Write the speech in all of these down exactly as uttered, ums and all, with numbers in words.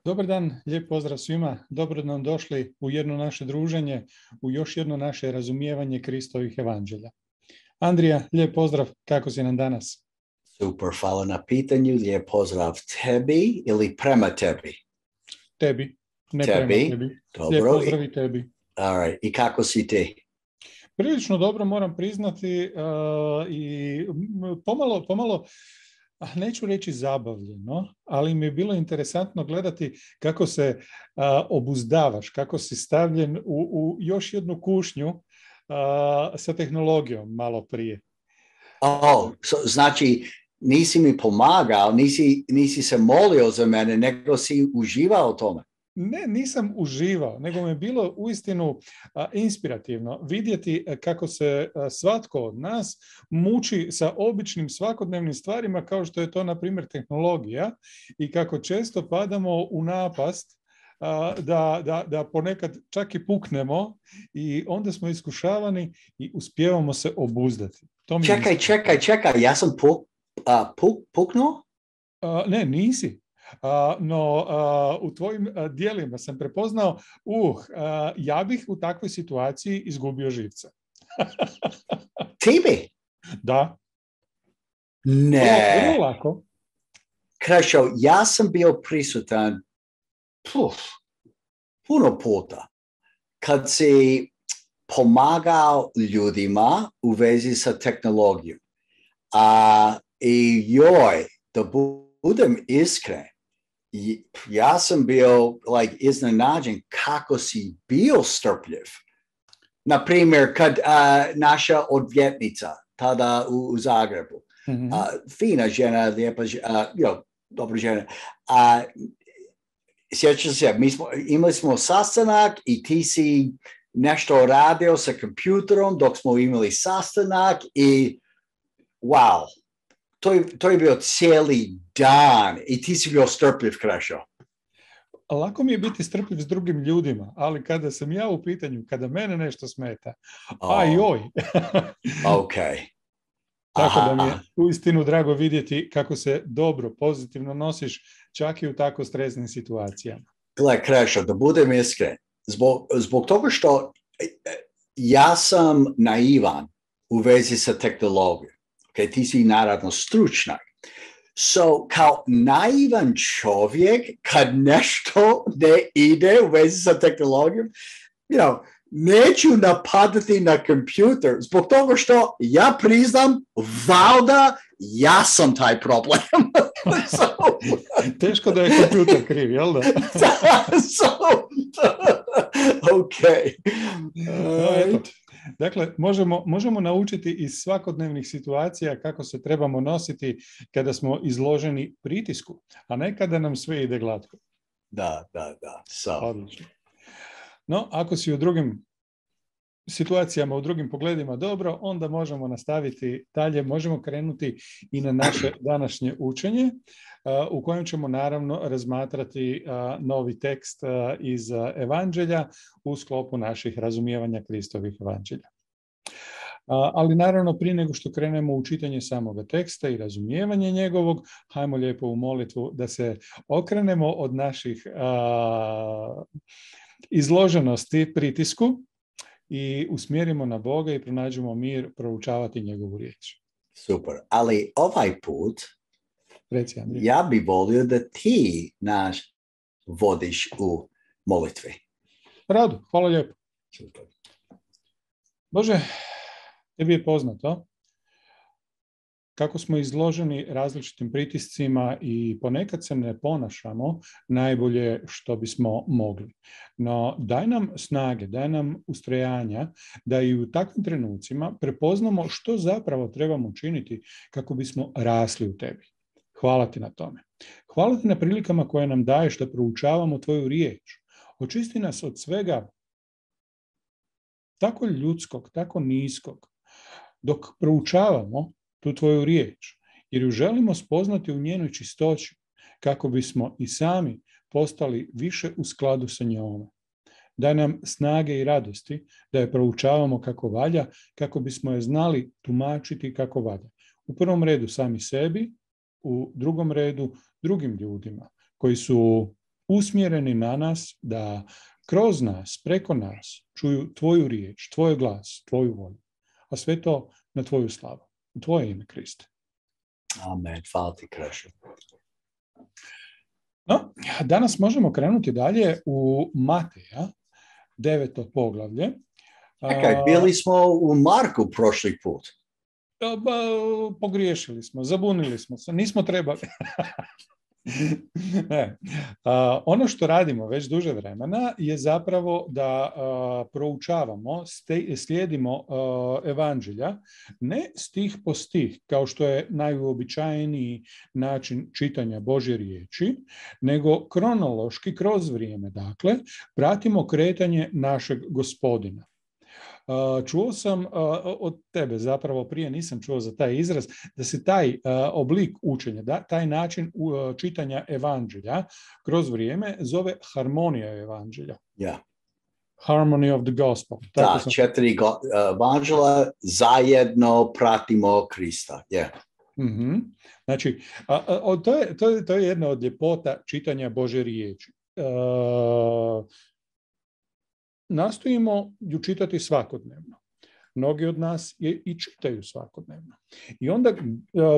Dobar dan, lijep pozdrav svima. Dobro nam došli u jedno naše druženje, u još jedno naše razumijevanje Kristovih evanđelja. Andrija, lijep pozdrav, kako si nam danas? Super, hvala na pitanju, lijep pozdrav tebi ili prema tebi? Tebi, ne tebi. prema tebi. Dobro. Lijep pozdrav i tebi. All right. I kako si ti? Prilično dobro, moram priznati, uh, i pomalo, pomalo, neću reći zabavljeno, ali mi je bilo interesantno gledati kako se uh, obuzdavaš, kako si stavljen u, u još jednu kušnju uh, sa tehnologijom malo prije. Oh, so, znači nisi mi pomagao, nisi, nisi se molio za mene, nego si uživao u tome. Ne, nisam uživao, nego mi je bilo uistinu a, inspirativno vidjeti kako se a, svatko od nas muči sa običnim svakodnevnim stvarima kao što je to, na primjer, tehnologija i kako često padamo u napast a, da, da, da ponekad čak i puknemo i onda smo iskušavani i uspijevamo se obuzdati. To mi čekaj, čekaj, čekaj, ja sam puk, uh, puk, puknuo? A, ne, nisi. Uh, no uh, u tvojim uh, dijelima sam prepoznao, uh, uh, ja bih u takvoj situaciji izgubio živce. Ti bi? Da. Ne. Vrlo lako. Krešo, ja sam bio prisutan puf, puno puta kad si pomagao ljudima u vezi sa tehnologijom. A i joj, da budem iskren, ja sam bio like, iznenađen kako si bio strpljiv. Na primjer, kad uh, naša odvjetnica tada u, u Zagrebu, mm-hmm. uh, fina žena, lijepa žena, uh, jo, dobra žena, uh, sjećam se, mi smo, imali smo sastanak i ti si nešto radio sa kompjuterom dok smo imali sastanak i wow, to je, to je bio cijeli dan i ti si bio strpljiv, Krešo. Lako mi je biti strpljiv s drugim ljudima, ali kada sam ja u pitanju, kada mene nešto smeta, oh. a joj. Ok. Tako da mi je uistinu drago vidjeti kako se dobro, pozitivno nosiš čak i u tako stresnim situacijama. Gle, Krešo, da budem iskren, zbog, zbog toga što ja sam naivan u vezi sa tehnologijom. Okay, ti si naravno stručnjak. So, kao naivan čovjek, kad nešto ne ide u vezi sa tehnologijom, you know, neću napadati na kompjuter, zbog toga što ja priznam, valjda ja sam taj problem. so, Teško da je kompjuter kriv, jel da? so, ok. Uh, Dakle, možemo, možemo naučiti iz svakodnevnih situacija kako se trebamo nositi kada smo izloženi pritisku, a ne kada nam sve ide glatko. Da, da, da. So. Odlično. No, ako si u drugim situacijama, u drugim pogledima dobro, onda možemo nastaviti dalje, možemo krenuti i na naše današnje učenje, u kojem ćemo naravno razmatrati novi tekst iz evanđelja u sklopu naših razumijevanja Kristovih evanđelja. Ali naravno, prije nego što krenemo u čitanje samoga teksta i razumijevanje njegovog, hajmo lijepo u molitvu da se okrenemo od naših a, izloženosti pritisku i usmjerimo na Boga i pronađemo mir proučavati njegovu riječ. Super, ali ovaj put Reci, ja bih volio da ti nas vodiš u molitvi. Rado, hvala lijepo. Super. Bože, tebi je poznato kako smo izloženi različitim pritiscima i ponekad se ne ponašamo najbolje što bismo mogli. No daj nam snage, daj nam ustrajanja da i u takvim trenucima prepoznamo što zapravo trebamo činiti kako bismo rasli u tebi. Hvala ti na tome. Hvala ti na prilikama koje nam daješ da proučavamo tvoju riječ. Očisti nas od svega tako ljudskog, tako niskog, dok proučavamo tu tvoju riječ, jer ju želimo spoznati u njenoj čistoći, kako bismo i sami postali više u skladu sa njome. Daj nam snage i radosti da je proučavamo kako valja, kako bismo je znali tumačiti kako valja. U prvom redu sami sebi, u drugom redu drugim ljudima koji su usmjereni na nas da kroz nas, preko nas, čuju tvoju riječ, tvoj glas, tvoju volju. A sve to na tvoju slavu. U tvoje ime, Kriste. Amen. Hvala ti, Krešo. No, danas možemo krenuti dalje u Mateja, deveto poglavlje. Čekaj, bili smo u Marku prošli put. Ba, pogriješili smo, zabunili smo se, nismo trebali. Ne. A, ono što radimo već duže vremena je zapravo da a, proučavamo, ste, slijedimo a, evanđelja, ne stih po stih, kao što je najuobičajeniji način čitanja Božje riječi, nego kronološki, kroz vrijeme, dakle, pratimo kretanje našeg Gospodina. Uh, čuo sam uh, od tebe, zapravo prije nisam čuo za taj izraz, da se taj uh, oblik učenja, da, taj način uh, čitanja evanđelja kroz vrijeme zove harmonija evanđelja. Yeah. Harmony of the gospel. Tako da, sam... četiri go, uh, evanđela zajedno pratimo Krista. Yeah. Mm-hmm. Znači, a, a, to, je, to, je, to je jedna od ljepota čitanja Božje riječi. Uh, Nastojimo ju čitati svakodnevno. Mnogi od nas je i čitaju svakodnevno. I onda uh,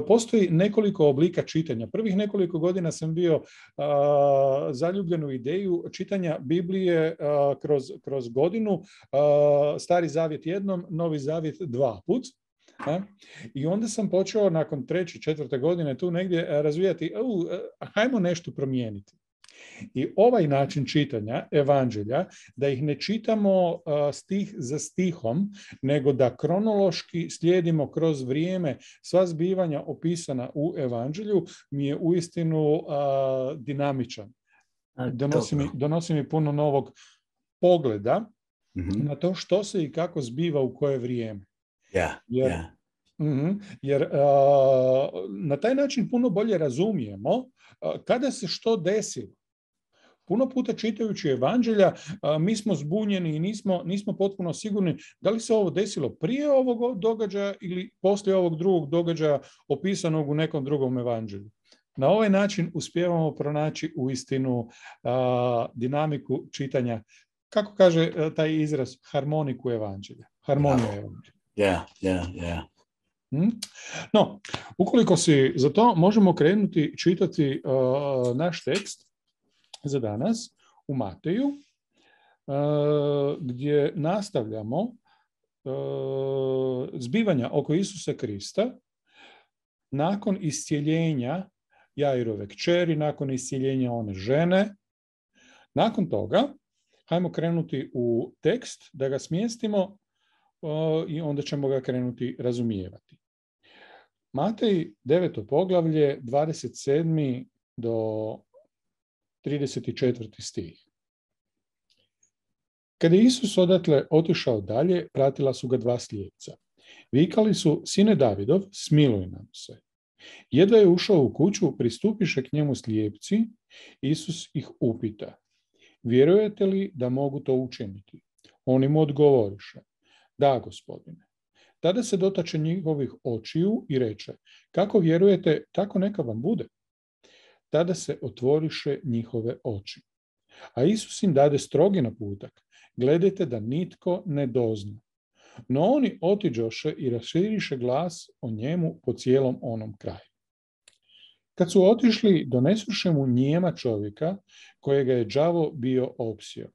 postoji nekoliko oblika čitanja. Prvih nekoliko godina sam bio uh, zaljubljen u ideju čitanja Biblije uh, kroz, kroz godinu, uh, Stari zavjet jednom, Novi zavjet dva put. Uh, I onda sam počeo nakon treće, četvrte godine tu negdje razvijati, uh, hajmo nešto promijeniti. I ovaj način čitanja evanđelja, da ih ne čitamo uh, stih za stihom, nego da kronološki slijedimo kroz vrijeme sva zbivanja opisana u evanđelju, mi je uistinu uh, dinamičan. Donosi mi, donosi mi puno novog pogleda mm-hmm. na to što se i kako zbiva u koje vrijeme. Yeah, jer yeah. Mm-hmm. Jer uh, na taj način puno bolje razumijemo uh, kada se što desilo. Puno puta čitajući evanđelja uh, mi smo zbunjeni i nismo, nismo potpuno sigurni da li se ovo desilo prije ovog događaja ili poslije ovog drugog događaja opisanog u nekom drugom evanđelju. Na ovaj način uspijevamo pronaći uistinu uh, dinamiku čitanja, kako kaže uh, taj izraz, harmoniku evanđelja. Harmonija yeah. evanđelja. Yeah, yeah, yeah. No, ukoliko si za to, možemo krenuti čitati uh, naš tekst za danas u Mateju, uh, gdje nastavljamo uh, zbivanja oko Isusa Krista nakon iscijeljenja Jairove kćeri, nakon iscijeljenja one žene. Nakon toga, hajmo krenuti u tekst, da ga smjestimo uh, i onda ćemo ga krenuti razumijevati. Matej, deveto poglavlje, dvadeset sedmi do trideset četvrti stih. Kada je Isus odatle otišao dalje, pratila su ga dva slijepca. Vikali su, sine Davidov, smiluj nam se. Jedva je ušao u kuću, pristupiše k njemu slijepci, Isus ih upita, vjerujete li da mogu to učiniti? Oni mu odgovoriše, da, Gospodine. Tada se dotače njihovih očiju i reče, kako vjerujete, tako neka vam bude. Tada se otvoriše njihove oči. A Isus im dade strogi naputak, gledajte da nitko ne dozna. No oni otiđoše i raširiše glas o njemu po cijelom onom kraju. Kad su otišli, donesuše mu nijema čovjeka, kojega je đavo bio opsio.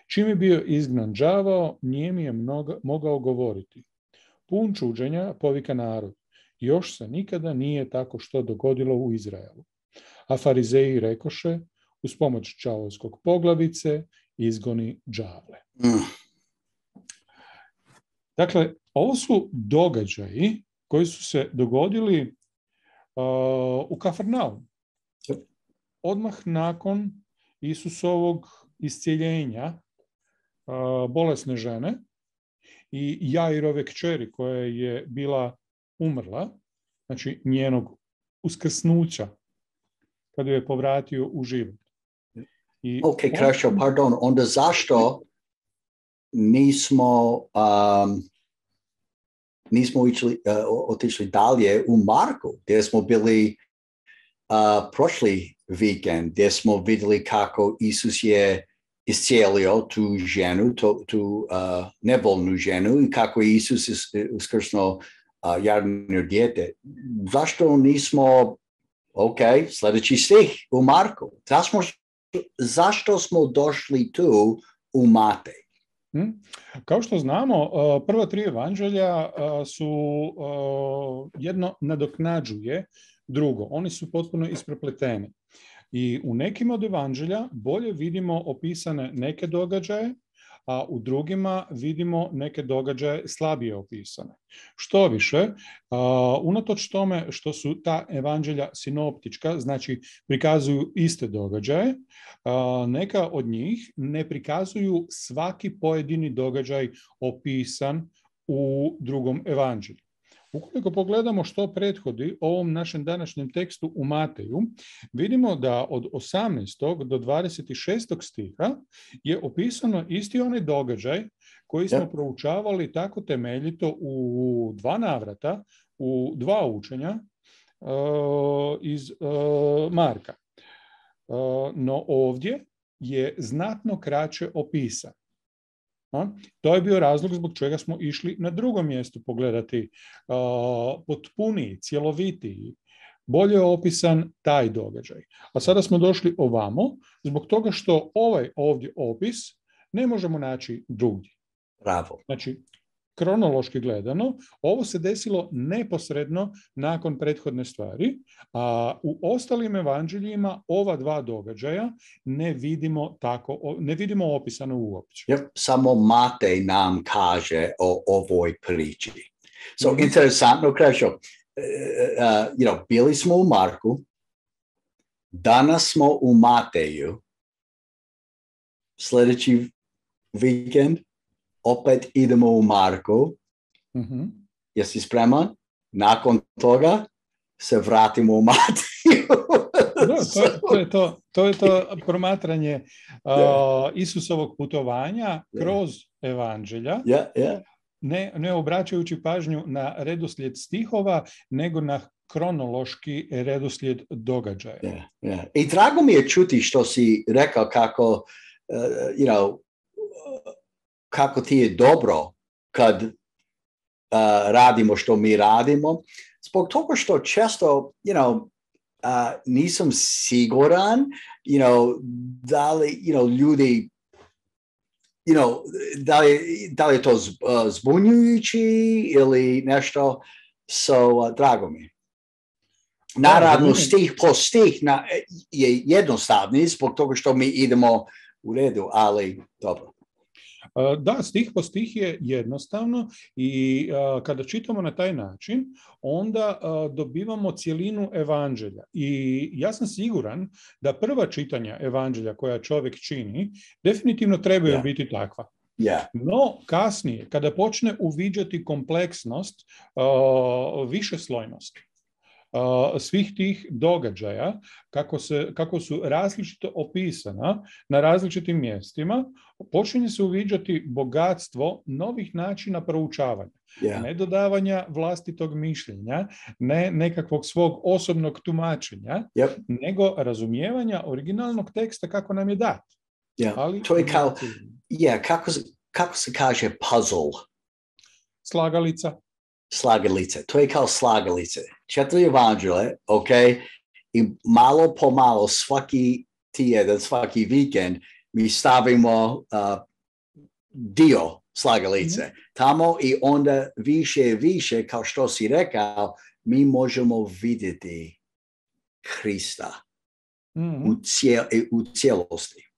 Čim je bio izgnan đavao, nijemi je mnoga, mogao govoriti. Pun čuđenja povika narod. Još se nikada nije tako što dogodilo u Izraelu. A farizeji rekoše, uz pomoć đavolskog poglavice, izgoni đavle. Mm. Dakle, ovo su događaji koji su se dogodili uh, u Kafarnaumu. Odmah nakon Isusovog iscijeljenja uh, bolesne žene i Jairove kćeri koja je bila umrla, znači njenog uskrsnuća, kada je povratio u život. I ok, Krešo, on... pardon, onda zašto nismo, um, nismo išli, uh, otišli dalje u Marku, gdje smo bili uh, prošli vikend gdje smo vidjeli kako Isus je iscijelio tu ženu, tu, tu uh, nebolnu ženu i kako je Isus uskrsnuo uh, jadno dijete. Zašto nismo, ok, sljedeći stih u Marku. Zašto, zašto smo došli tu u Matej? Hmm. Kao što znamo, prva tri evanđelja su jedno nadoknađuje drugo. Oni su potpuno isprepleteni. I u nekim od evanđelja bolje vidimo opisane neke događaje, a u drugima vidimo neke događaje slabije opisane. Što više, unatoč tome što su ta evanđelja sinoptička, znači prikazuju iste događaje, neka od njih ne prikazuju svaki pojedini događaj opisan u drugom evanđelju. Ukoliko pogledamo što prethodi ovom našem današnjem tekstu u Mateju, vidimo da od osamnaestog do dvadeset šestog stiha je opisano isti onaj događaj koji smo proučavali tako temeljito u dva navrata, u dva učenja uh, iz uh, Marka. Uh, no ovdje je znatno kraće opisan. A? To je bio razlog zbog čega smo išli na drugom mjestu pogledati uh, potpuniji, cjelovitiji, bolje opisan taj događaj. A sada smo došli ovamo zbog toga što ovaj ovdje opis ne možemo naći drugdje. Bravo. Znači, kronološki gledano, ovo se desilo neposredno nakon prethodne stvari, a u ostalim evanđeljima ova dva događaja ne vidimo tako, ne vidimo opisano uopće. Yep. Samo Matej nam kaže o ovoj priči. So, mm-hmm. Interesantno, Krešo, uh, uh, you know, bili smo u Marku, danas smo u Mateju, sljedeći vikend opet idemo u Marku. Mm-hmm. Jesi spreman? Nakon toga se vratimo u Mateju. Da, to, to, je to, to je to promatranje uh, Isusovog putovanja kroz evanđelja, yeah, yeah. Ne, ne obraćajući pažnju na redoslijed stihova, nego na kronološki redoslijed događaja. Yeah, yeah. I drago mi je čuti što si rekao kako, uh, you know, kako ti je dobro kad uh, radimo što mi radimo. Zbog toga što često, you know, uh, nisam siguran, you know, da li, you know, ljudi, you know, da li, da li je to uh, zbunjujući ili nešto, so uh, drago mi. Naravno, da, stih po stih na, je jednostavni zbog toga što mi idemo u redu, ali dobro. Da, stih po stih je jednostavno i a, kada čitamo na taj način, onda a, dobivamo cjelinu evanđelja. I ja sam siguran da prva čitanja evanđelja koja čovjek čini definitivno trebaju yeah. biti takva. Yeah. No, kasnije, kada počne uviđati kompleksnost, a, višeslojnost Uh, svih tih događaja, kako, se, kako su različito opisana na različitim mjestima, počinje se uviđati bogatstvo novih načina proučavanja. Yeah. Ne dodavanja vlastitog mišljenja, ne nekakvog svog osobnog tumačenja, yep. nego razumijevanja originalnog teksta kako nam je dat. Yeah. Ali, to je kao, yeah, kako, kako se kaže puzzle? Slagalica. Slagalice. To je kao slagalice. Četiri evanđelje, ok? I malo po malo svaki tjedan, svaki vikend mi stavimo uh, dio slagalice. Mm-hmm. Tamo i onda više i više, kao što si rekao, mi možemo vidjeti Krista mm-hmm. u, cijel, u cijelosti.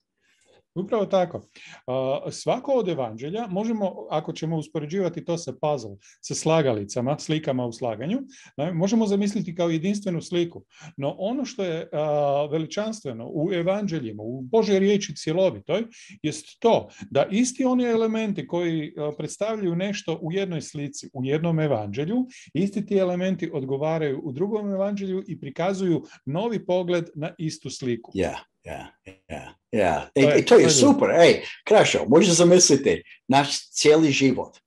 Upravo tako. Uh, svako od evanđelja možemo, ako ćemo uspoređivati to sa puzzle, sa slagalicama, slikama u slaganju, ne, možemo zamisliti kao jedinstvenu sliku. No ono što je uh, veličanstveno u evanđeljima, u Božoj riječi cjelovitoj, jest to da isti oni elementi koji uh, predstavljaju nešto u jednoj slici, u jednom evanđelju, isti ti elementi odgovaraju u drugom evanđelju i prikazuju novi pogled na istu sliku. Yeah. Ja, ja, ja. I to je super. Ej, Krešo, možeš zamisliti naš cijeli život.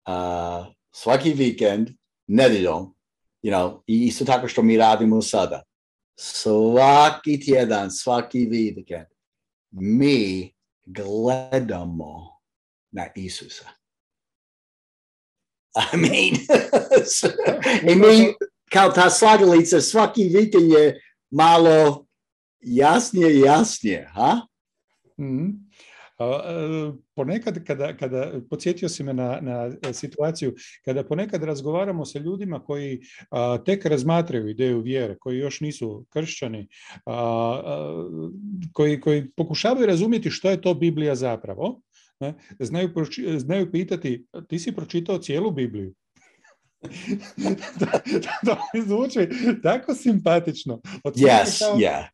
Uh, svaki vikend, nedjeljom, you know, i isto tako što mi radimo sada. svaki tjedan, svaki vikend, mi gledamo na Isusa. I mean, i mi kao ta slagalica svaki vikend je malo jasnije i jasnije, ha? Mm-hmm. Ponekad, kada, kada podsjetio si me na, na situaciju, kada ponekad razgovaramo sa ljudima koji a, tek razmatraju ideju vjere, koji još nisu kršćani, a, a, koji, koji pokušavaju razumjeti što je to Biblija zapravo, ne, znaju, znaju pitati, ti si pročitao cijelu Bibliju? To mi zvuči tako simpatično. Yes, kao, yeah.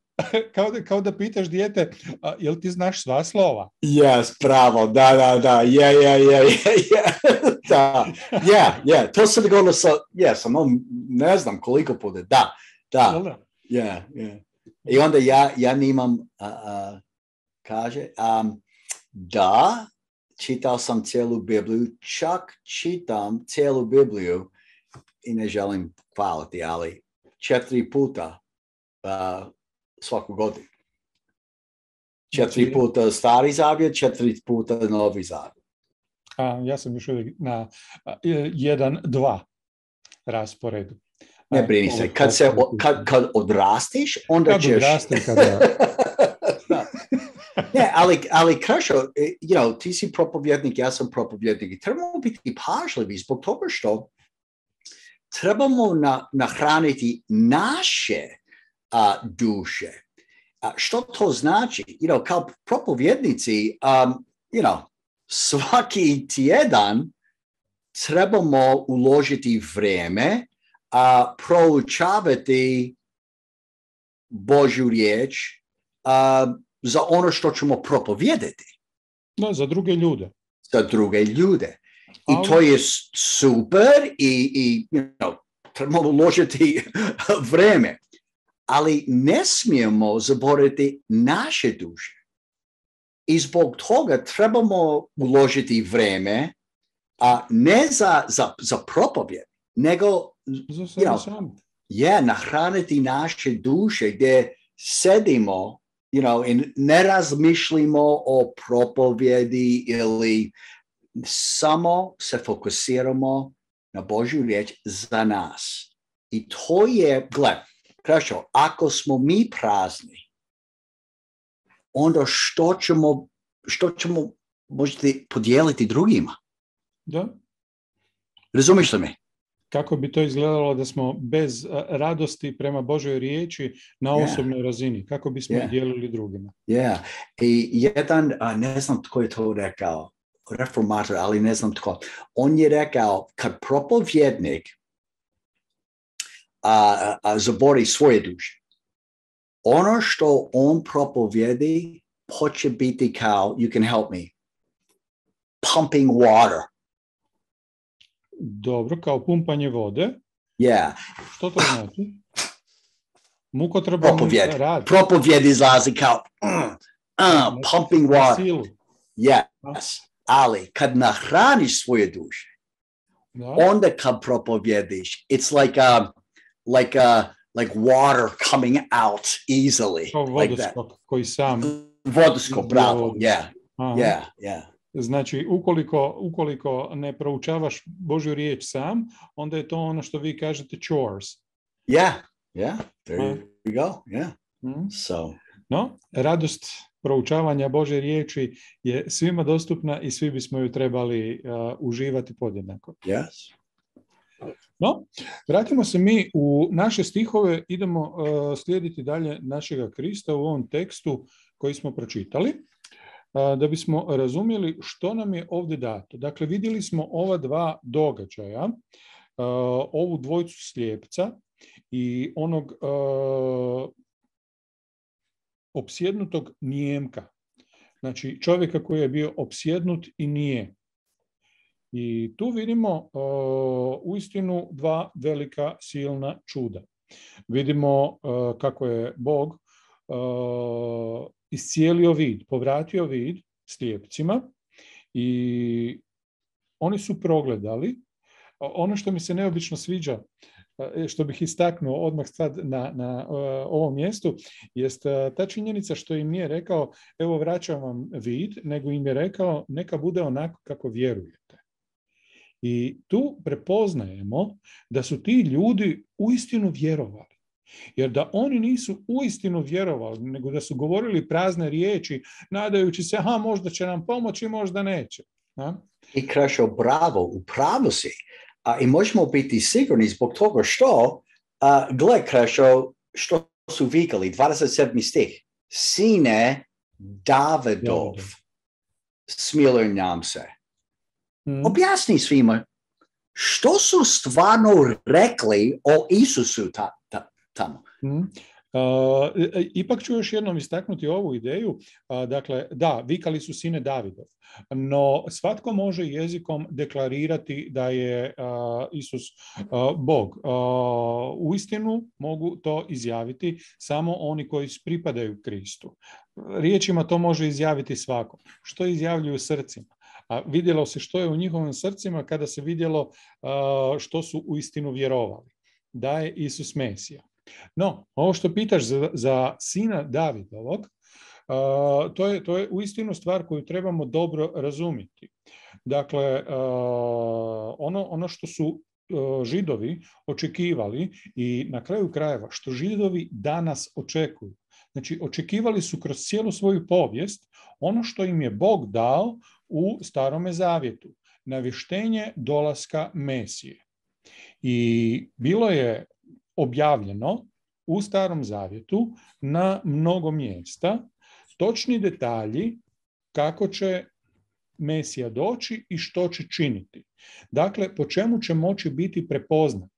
Kao da, kao da pitaš dijete, a, jel ti znaš sva slova? Yes, bravo, da, da, da, je, je, je, je, da, je, je, to se dogodilo sa, je, sam, ne znam koliko puta, da, da, je, je. I onda ja, ja nimam, uh, uh, kaže, um, da, čitao sam cijelu Bibliju, čak čitam cijelu Bibliju i ne želim hvaliti, ali četiri puta uh, svaku godinu. Četiri puta stari zavjet, četiri puta novi zavjet. A, ja sam još uvijek na jedan, dva rasporedu. Ne brini se, kad, se, kad, kad odrastiš, onda kad ćeš... Odrasti, kada... Ne, ali, ali Kršo, you know, ti si propovjednik, ja sam propovjednik i trebamo biti pažljivi zbog toga što trebamo na, nahraniti naše a, duše. A što to znači? You know, kao propovjednici, um, you know, svaki tjedan trebamo uložiti vrijeme a proučavati Božju riječ a, za ono što ćemo propovijedati. No, za druge ljude. Za druge ljude. I ali... to je super i, i you know, trebamo uložiti vrijeme. Ali ne smijemo zaboraviti naše duše. I zbog toga trebamo uložiti vrijeme, a ne za, za, za propovjed, nego za you know, je, nahraniti naše duše gdje sedimo you know, i ne razmišljamo o propovjedi ili samo se fokusiramo na Božju riječ za nas. I to je, gled, Krešo, ako smo mi prazni, onda što ćemo, što ćemo možete podijeliti drugima? Da. Razumiješ li me? Kako bi to izgledalo da smo bez radosti prema Božoj riječi na yeah. osobnoj razini? Kako bismo yeah. dijelili drugima? Yeah. I jedan, ne znam tko je to rekao, reformator, ali ne znam tko, on je rekao, kad propovjednik a, a, zabori svoje duše, ono što on propovjedi hoće biti kao, you can help me, pumping water. Dobro, kao pumpanje vode. Yeah. Što to znači? Mukotrpan rad. Propovjed izlazi kao uh, uh, pumping water. Yes. Ali kad nahraniš svoje duše, da. Onda kad propovjediš, it's like a, like a, like water coming out easily. Kao vodoskop like koji sam. Vodoskop, bravo. Yeah. Aha. Yeah, yeah. Znači, ukoliko, ukoliko ne proučavaš Božju riječ sam, onda je to ono što vi kažete chores. Yeah, yeah, there uh. you go, yeah. Mm. So. No, radost proučavanja Božje riječi je svima dostupna i svi bismo ju trebali uh, uživati podjednako. Yes. No, vratimo se mi u naše stihove, idemo uh, slijediti dalje našega Krista u ovom tekstu koji smo pročitali, da bismo razumjeli što nam je ovdje dato. Dakle, vidjeli smo ova dva događaja, ovu dvojicu slijepca i onog opsjednutog nijemka. Znači, čovjeka koji je bio opsjednut i nije. I tu vidimo uistinu dva velika silna čuda. Vidimo kako je Bog iscijelio vid, povratio vid slijepcima i oni su progledali. Ono što mi se neobično sviđa što bih istaknuo odmah sad na, na uh, ovom mjestu, jest uh, ta činjenica što im nije rekao, evo vraćam vam vid, nego im je rekao neka bude onako kako vjerujete. I tu prepoznajemo da su ti ljudi uistinu vjerovali. Jer da oni nisu uistinu vjerovali, nego da su govorili prazne riječi, nadajući se, aha, možda će nam pomoći, možda neće. A? I Krešo, bravo, upravo si. A, I možemo biti sigurni zbog toga što, a, gle Krešo, što su vikali, dvadeset sedmi stih, sine Davidov, smiluj nam se. Hmm. Objasni svima, što su stvarno rekli o Isusu ta, ta, tamo? Hmm. Uh, ipak ću još jednom istaknuti ovu ideju. Uh, dakle, da, vikali su sine Davidov, no svatko može jezikom deklarirati da je uh, Isus uh, Bog. Uh, uistinu mogu to izjaviti samo oni koji pripadaju Kristu. Riječima to može izjaviti svako. Što izjavljuju srcima? A vidjelo se što je u njihovim srcima kada se vidjelo uh, što su uistinu vjerovali. Da je Isus Mesija. No, ovo što pitaš za, za sina Davidovog, uh, to je, to je uistinu stvar koju trebamo dobro razumjeti. Dakle, uh, ono, ono što su uh, Židovi očekivali i na kraju krajeva što Židovi danas očekuju. Znači, očekivali su kroz cijelu svoju povijest ono što im je Bog dao u Starome zavjetu, navještenje dolaska Mesije. I bilo je objavljeno u Starom zavjetu na mnogo mjesta točni detalji kako će Mesija doći i što će činiti. Dakle, po čemu će moći biti prepoznat,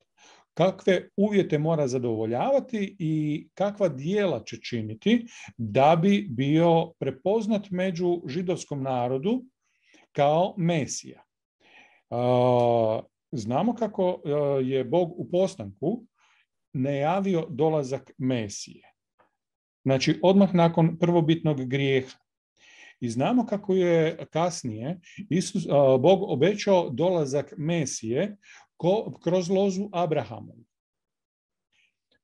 kakve uvjete mora zadovoljavati i kakva djela će činiti da bi bio prepoznat među židovskom narodu kao Mesija. Znamo kako je Bog u postanku najavio dolazak Mesije. Znači, odmah nakon prvobitnog grijeha. I znamo kako je kasnije Isus, Bog obećao dolazak Mesije ko, kroz lozu Abrahamovu.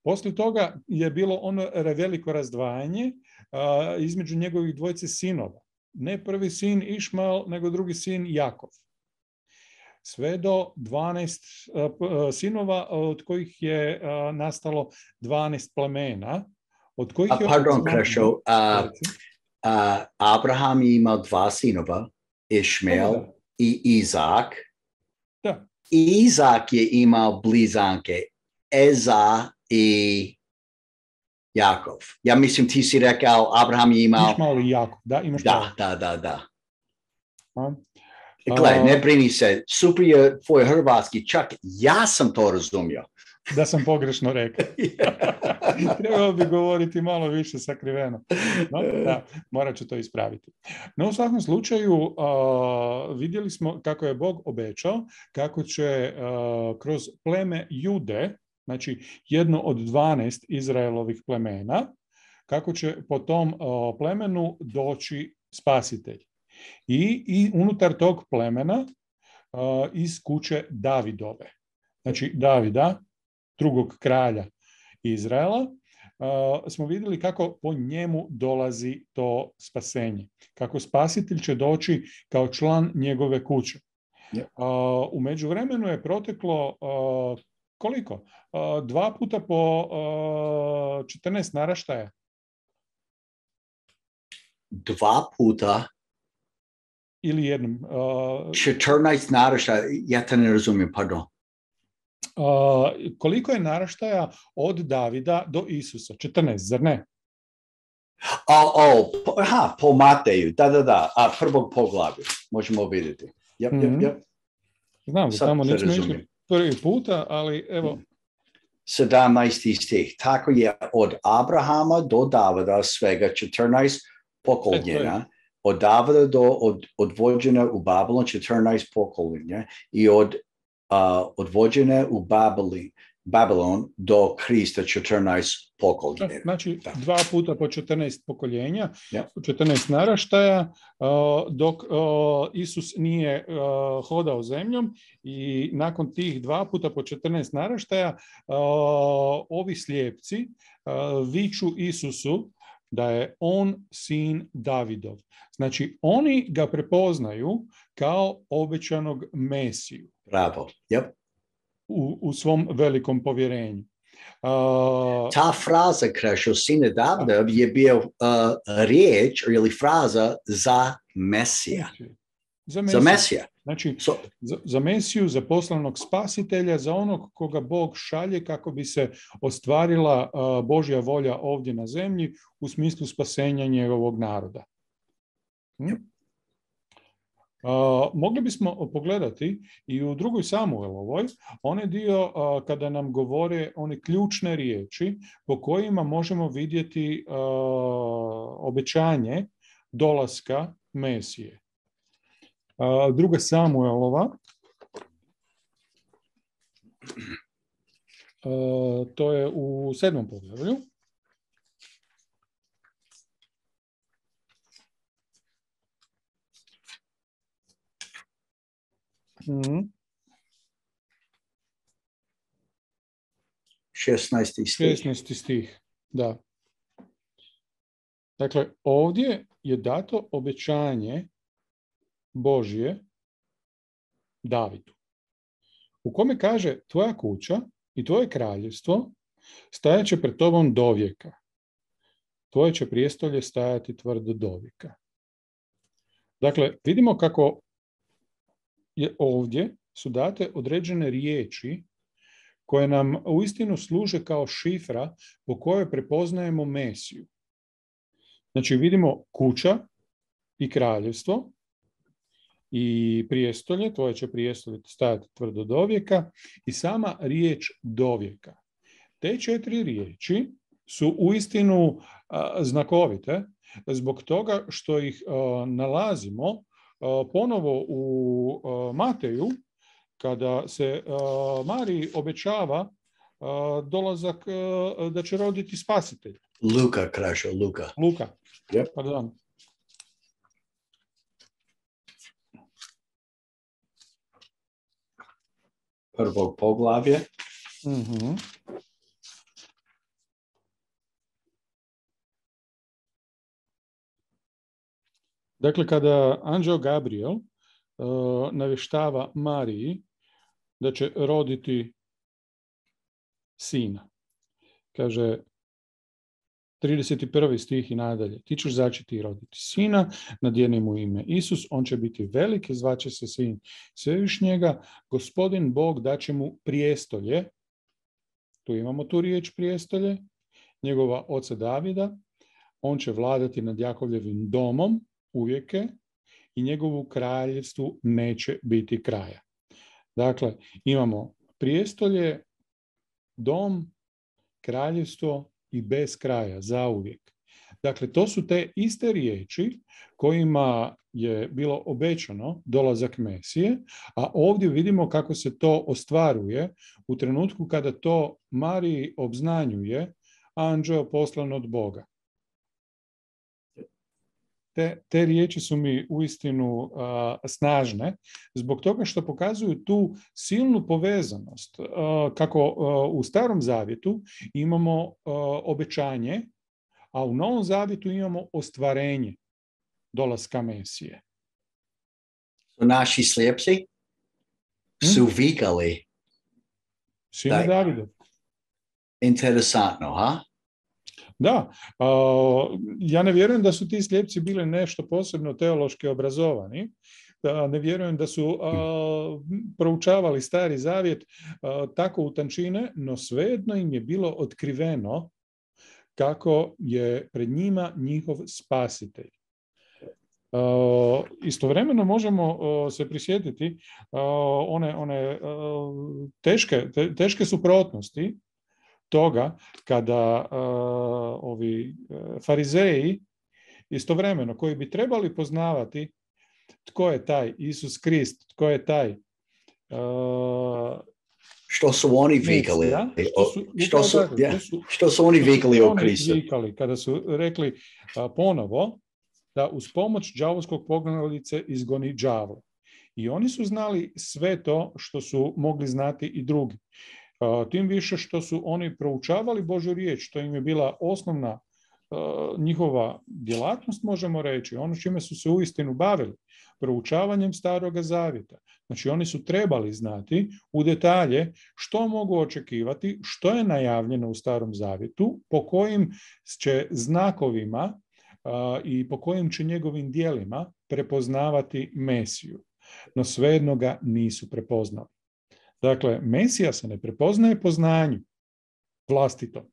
Poslije toga je bilo ono veliko razdvajanje a, između njegovih dvojice sinova. Ne prvi sin Išmael, nego drugi sin Jakov. Sve do dvanaest uh, sinova, od kojih je uh, nastalo dvanaest plemena. Od kojih A, je pardon, Krešo, uh, uh, Abraham je imao dva sinova, Išmael da, da. I Izak. Da. Izak je imao blizanke, Eza i Jakov. Ja mislim ti si rekao, Abraham je imao... Išmael i Jakov, da, imaš da, da, da, da. A? Gle, ne brini se, super je tvoj hrvatski, čak ja sam to razumio. Da sam pogrešno rekao. Trebao bi govoriti malo više sakriveno. No, da, morat ću to ispraviti. No, u svakom slučaju uh, vidjeli smo kako je Bog obećao, kako će uh, kroz pleme Jude, znači jedno od dvanaest Izraelovih plemena, kako će po tom uh, plemenu doći spasitelj. I, i unutar tog plemena uh, iz kuće Davidove. Znači Davida, drugog kralja Izraela, uh, smo vidjeli kako po njemu dolazi to spasenje. Kako spasitelj će doći kao član njegove kuće. Yeah. Uh, u međuvremenu je proteklo uh, koliko? Uh, dva puta po uh, četrnaest naraštaja. Dva puta? Ili jednom. Uh, četrnaest naraštaja, ja te ne razumijem, pardon. Uh, koliko je naraštaja od Davida do Isusa? četrnaest, zar ne? O, o, aha, po Mateju, da, da, da, a prvog poglavlja, možemo vidjeti. Yep, mm-hmm. yep, yep. Znam, da tamo nismo išli prvi puta, ali evo. sedamnaesti stih, tako je od Abrahama do Davida svega četrnaest pokoljenja, od Davida do od, odvođene u Babilon četrnaest pokoljenja i od uh, odvođene u Babili Babilon do Krista četrnaest pokoljenja. Znači, dva puta po četrnaest pokoljenja, Ja. četrnaest naraštaja, dok Isus nije hodao zemljom i nakon tih dva puta po četrnaest naraštaja ovi slijepci viču Isusu da je on sin Davidov. Znači, oni ga prepoznaju kao obećanog Mesiju. Bravo, yep. U, u svom velikom povjerenju. Uh, Ta fraza Krešo, sine Davida, je bio uh, riječ ili fraza za Mesija. Za Mesiju. Za Mesija. Znači, so, za, za Mesiju, za poslanog spasitelja, za onog koga Bog šalje kako bi se ostvarila uh, Božja volja ovdje na zemlji u smislu spasenja njegovog naroda. Hm? Uh, mogli bismo pogledati i u drugoj Samuelovoj onaj dio uh, kada nam govore one ključne riječi po kojima možemo vidjeti uh, obećanje dolaska Mesije. Uh, druga Samuelova, uh, to je u sedmom poglavlju. Mm. šesnaesti stih. šesnaesti stih, da. Dakle, ovdje je dato obećanje Božje Davidu, u kome kaže: tvoja kuća i tvoje kraljevstvo stajat će pred tobom dovijeka. Tvoje će prijestolje stajati tvrdo dovijeka. Dakle, vidimo kako je ovdje su date određene riječi koje nam uistinu služe kao šifra po kojoj prepoznajemo Mesiju. Znači, vidimo kuća i kraljevstvo i prijestolje, tvoje će prijestolje stajati tvrdo dovijeka, i sama riječ dovijeka. Te četiri riječi su uistinu a, znakovite zbog toga što ih a, nalazimo ponovo u Mateju, kada se Mariji obećava dolazak da će roditi spasitelj. Luka, Krašo, Luka. Luka, Yep. pardon. Prvo poglavlje. Mhm. Dakle, kada anđeo Gabriel uh, navještava Mariji da će roditi sina, kaže trideset prvi stih i nadalje: ti ćeš začeti i roditi sina, nadijeni mu ime Isus, on će biti velik i zvaće se sin Svevišnjega, Gospodin Bog daće mu prijestolje, tu imamo tu riječ prijestolje, njegova oca Davida, on će vladati nad Jakovljevim domom uvijeke i njegovu kraljevstvu neće biti kraja. Dakle, imamo prijestolje, dom, kraljevstvo i bez kraja, zauvijek. Dakle, to su te iste riječi kojima je bilo obećano dolazak Mesije, a ovdje vidimo kako se to ostvaruje u trenutku kada to Mariji obznanjuje anđeo poslan od Boga. Te, te riječi su mi uistinu uh, snažne, zbog toga što pokazuju tu silnu povezanost. Uh, kako uh, u Starom Zavjetu imamo uh, obećanje, a u Novom Zavjetu imamo ostvarenje dolaska Mesije. Naši slijepci su hmm? vikali. Sine Davidov. Interesantno, ha? Da, uh, ja ne vjerujem da su ti slijepci bili nešto posebno teološki obrazovani, da ne vjerujem da su uh, proučavali Stari Zavjet uh, tako u tančine, no svejedno im je bilo otkriveno kako je pred njima njihov spasitelj. Uh, istovremeno možemo uh, se prisjetiti uh, one, one uh, teške, te, teške suprotnosti toga kada uh, ovi uh, farizeji istovremeno koji bi trebali poznavati tko je taj Isus Krist, tko je taj uh, Što su oni vikali? Mesija, što su, Što su, tako, yeah, što su, što su oni što su vikali o oni Kristu? vikali kada su rekli a, ponovo da uz pomoć đavolskog pognalice izgoni đavo. I oni su znali sve to što su mogli znati i drugi. A, tim više što su oni proučavali Božju riječ, to im je bila osnovna a, njihova djelatnost, možemo reći, ono čime su se uistinu bavili, proučavanjem Staroga zavjeta. Znači oni su trebali znati u detalje što mogu očekivati, što je najavljeno u Starom zavjetu, po kojim će znakovima a, i po kojim će njegovim djelima prepoznavati Mesiju. No svejedno ga nisu prepoznali. Dakle, Mesija se ne prepoznaje po znanju vlastitom,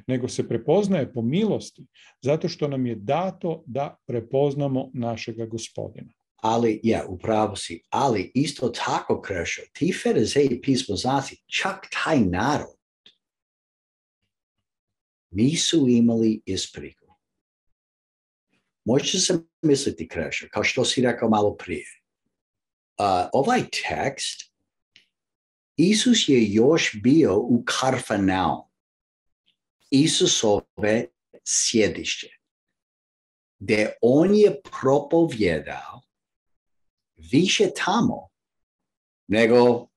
nego se prepoznaje po milosti, zato što nam je dato da prepoznamo našega Gospodina. Ali, ja, upravo si, ali isto tako, Krešo, ti farizeji, pismoznanci, čak taj narod nisu imali ispriku. Možete se misliti, Krešo, kao što si rekao malo prije. Uh, ovaj tekst, Isus je još bio u Kafarnaum, Isusove sjedište, gdje on je propovjedao više tamo nego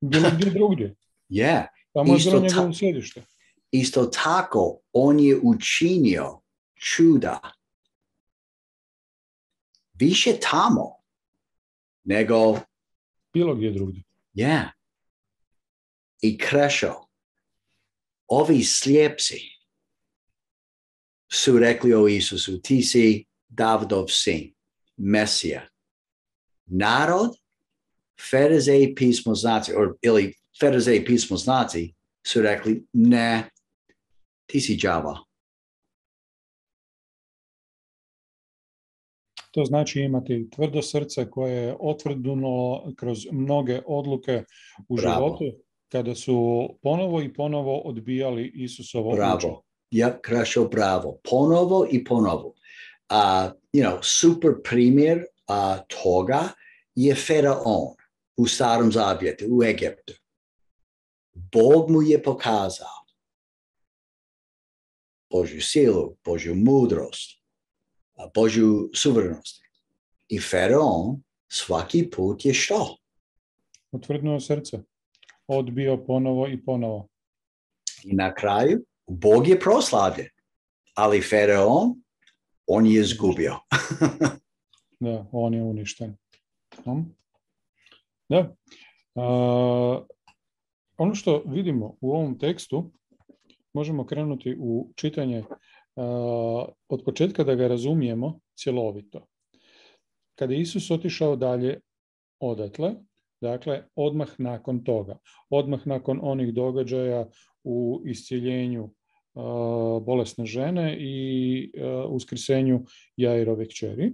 bilo gdje drugdje. Yeah. Tamo je bilo Isto, njegovo ta, sjedište. isto tako, on je učinio čuda više tamo nego bilo gdje drugdje. Yeah. I Krešo, ovi slijepci su rekli o Isusu, ti si Davidov sin, Mesija. Narod, farizeji, pismoznanci, ili farizeji, pismoznanci su rekli, ne, ti si đava. To znači imati tvrdo srce koje je otvrdnulo kroz mnoge odluke u Bravo. životu, kada su ponovo i ponovo odbijali Isusovo učenje. Bravo. Ja, Krešo, bravo. Ponovo i ponovo. Uh, you know, super primjer uh, toga je Faraon u Starom zavjetu, u Egiptu. Bog mu je pokazao Božju silu, Božju mudrost, Božju suverenost. I Faraon svaki put je što? Otvrdnuo srce. Odbio ponovo i ponovo. I na kraju, Bog je proslavljen, ali Faraon, on je izgubio. Da, on je uništen. Da. Uh, ono što vidimo u ovom tekstu, možemo krenuti u čitanje uh, od početka da ga razumijemo cjelovito. Kada je Isus otišao dalje odatle, dakle, odmah nakon toga, odmah nakon onih događaja u iscjeljenju uh, bolesne žene i uh, uskrsenju Jairove kćeri.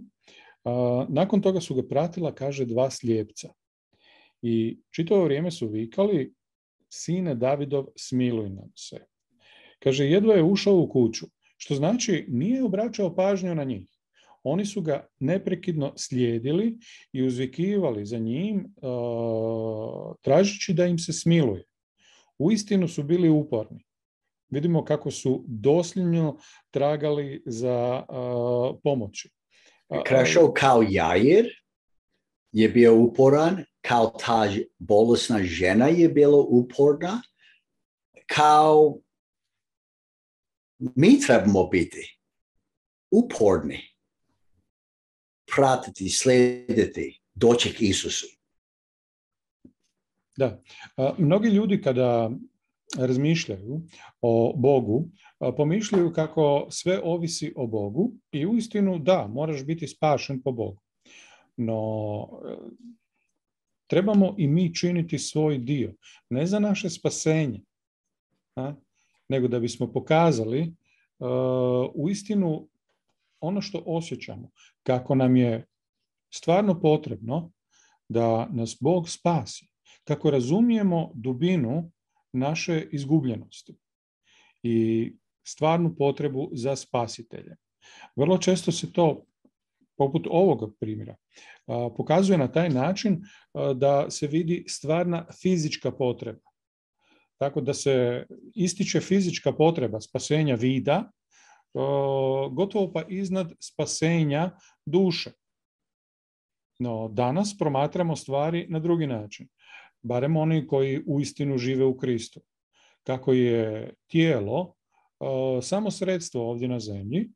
Uh, nakon toga su ga pratila, kaže, dva slijepca. I čitavo vrijeme su vikali, sine Davidov, smiluj nam se. Kaže, jedva je ušao u kuću, što znači nije obraćao pažnju na njih. Oni su ga neprekidno slijedili i uzvikivali za njim, uh, tražeći da im se smiluje. Uistinu su bili uporni. Vidimo kako su dosljedno tragali za uh, pomoći. Krešo, kao Jair je bio uporan, kao ta bolesna žena je bila uporna, kao mi trebamo biti uporni, pratiti, slijediti, doći k Isusu. Da. Mnogi ljudi kada razmišljaju o Bogu, pomišljaju kako sve ovisi o Bogu i uistinu da, moraš biti spašen po Bogu. No, trebamo i mi činiti svoj dio, ne za naše spasenje, a, nego da bismo pokazali uh, uistinu ono što osjećamo, kako nam je stvarno potrebno da nas Bog spasi, kako razumijemo dubinu naše izgubljenosti i stvarnu potrebu za spasiteljem. Vrlo često se to poput ovog primjera, pokazuje na taj način da se vidi stvarna fizička potreba. Tako da se ističe fizička potreba spasenja vida, gotovo pa iznad spasenja duše. No, danas promatramo stvari na drugi način, barem oni koji uistinu žive u Kristu. Kako je tijelo samo sredstvo ovdje na zemlji,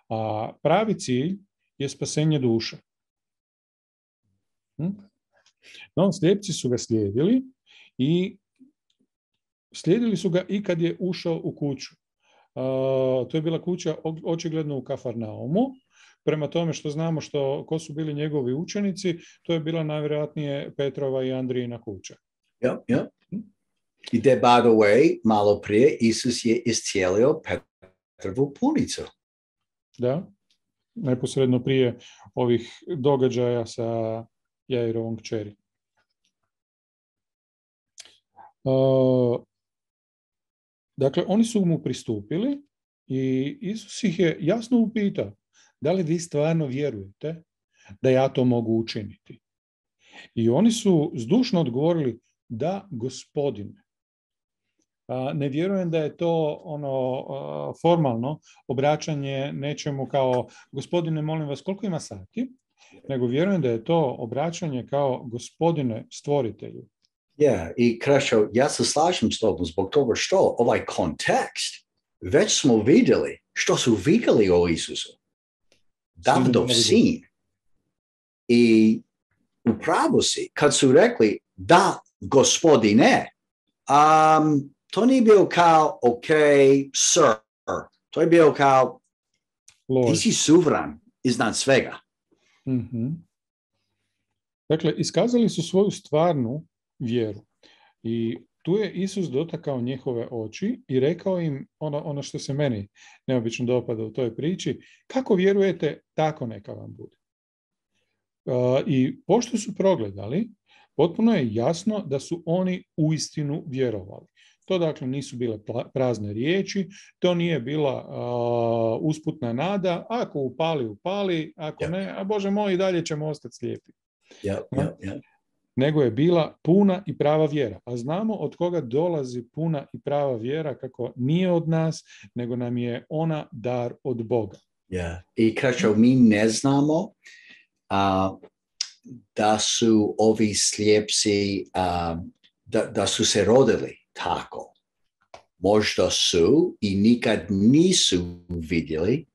a pravi cilj je spasenje duše. No, slijepci su ga slijedili i slijedili su ga i kad je ušao u kuću. Uh, to je bila kuća očigledno u Kafarnaumu. Prema tome što znamo što, ko su bili njegovi učenici, to je bila najvjerojatnije Petrova i Andrijina kuća. Yep, yep. I de, by the way, malo prije Isus je iscijelio Petrovu punicu. Da, neposredno prije ovih događaja sa Jairovom kćeri. Uh, dakle, oni su mu pristupili i Isus ih je jasno upitao, da li vi stvarno vjerujete da ja to mogu učiniti? I oni su zdušno odgovorili, da, Gospodine. A, ne vjerujem da je to ono a, formalno obraćanje nečemu kao, Gospodine, molim vas, koliko ima sati? Nego vjerujem da je to obraćanje kao, Gospodine, stvoritelju. Yeah, i Krešo, ja se slažem s tobom zbog toga što ovaj kontekst već smo vidjeli što su vidjeli o Isusu. Davidov sin. I upravo si, kad su rekli da, Gospodine, um, to nije bio kao, ok, sir. To je bio kao, Lord. Ti si suvran iznad svega. Mm-hmm. Dakle, iskazali su svoju stvarnu vjeru. I tu je Isus dotakao njihove oči i rekao im ono, ono što se meni neobično dopada u toj priči, kako vjerujete, tako neka vam bude. Uh, I pošto su progledali, potpuno je jasno da su oni uistinu vjerovali. To dakle nisu bile prazne riječi, to nije bila uh, usputna nada, ako upali, upali, ako yeah. ne, a Bože moj, i dalje ćemo ostati slijepi. Yeah, yeah, yeah. Nego je bila puna i prava vjera. A znamo od koga dolazi puna i prava vjera, kako nije od nas, nego nam je ona dar od Boga. Yeah. I Krešo, mi ne znamo uh, da su ovi slijepci, uh, da, da su se rodili tako. Možda su i nikad nisu vidjeli,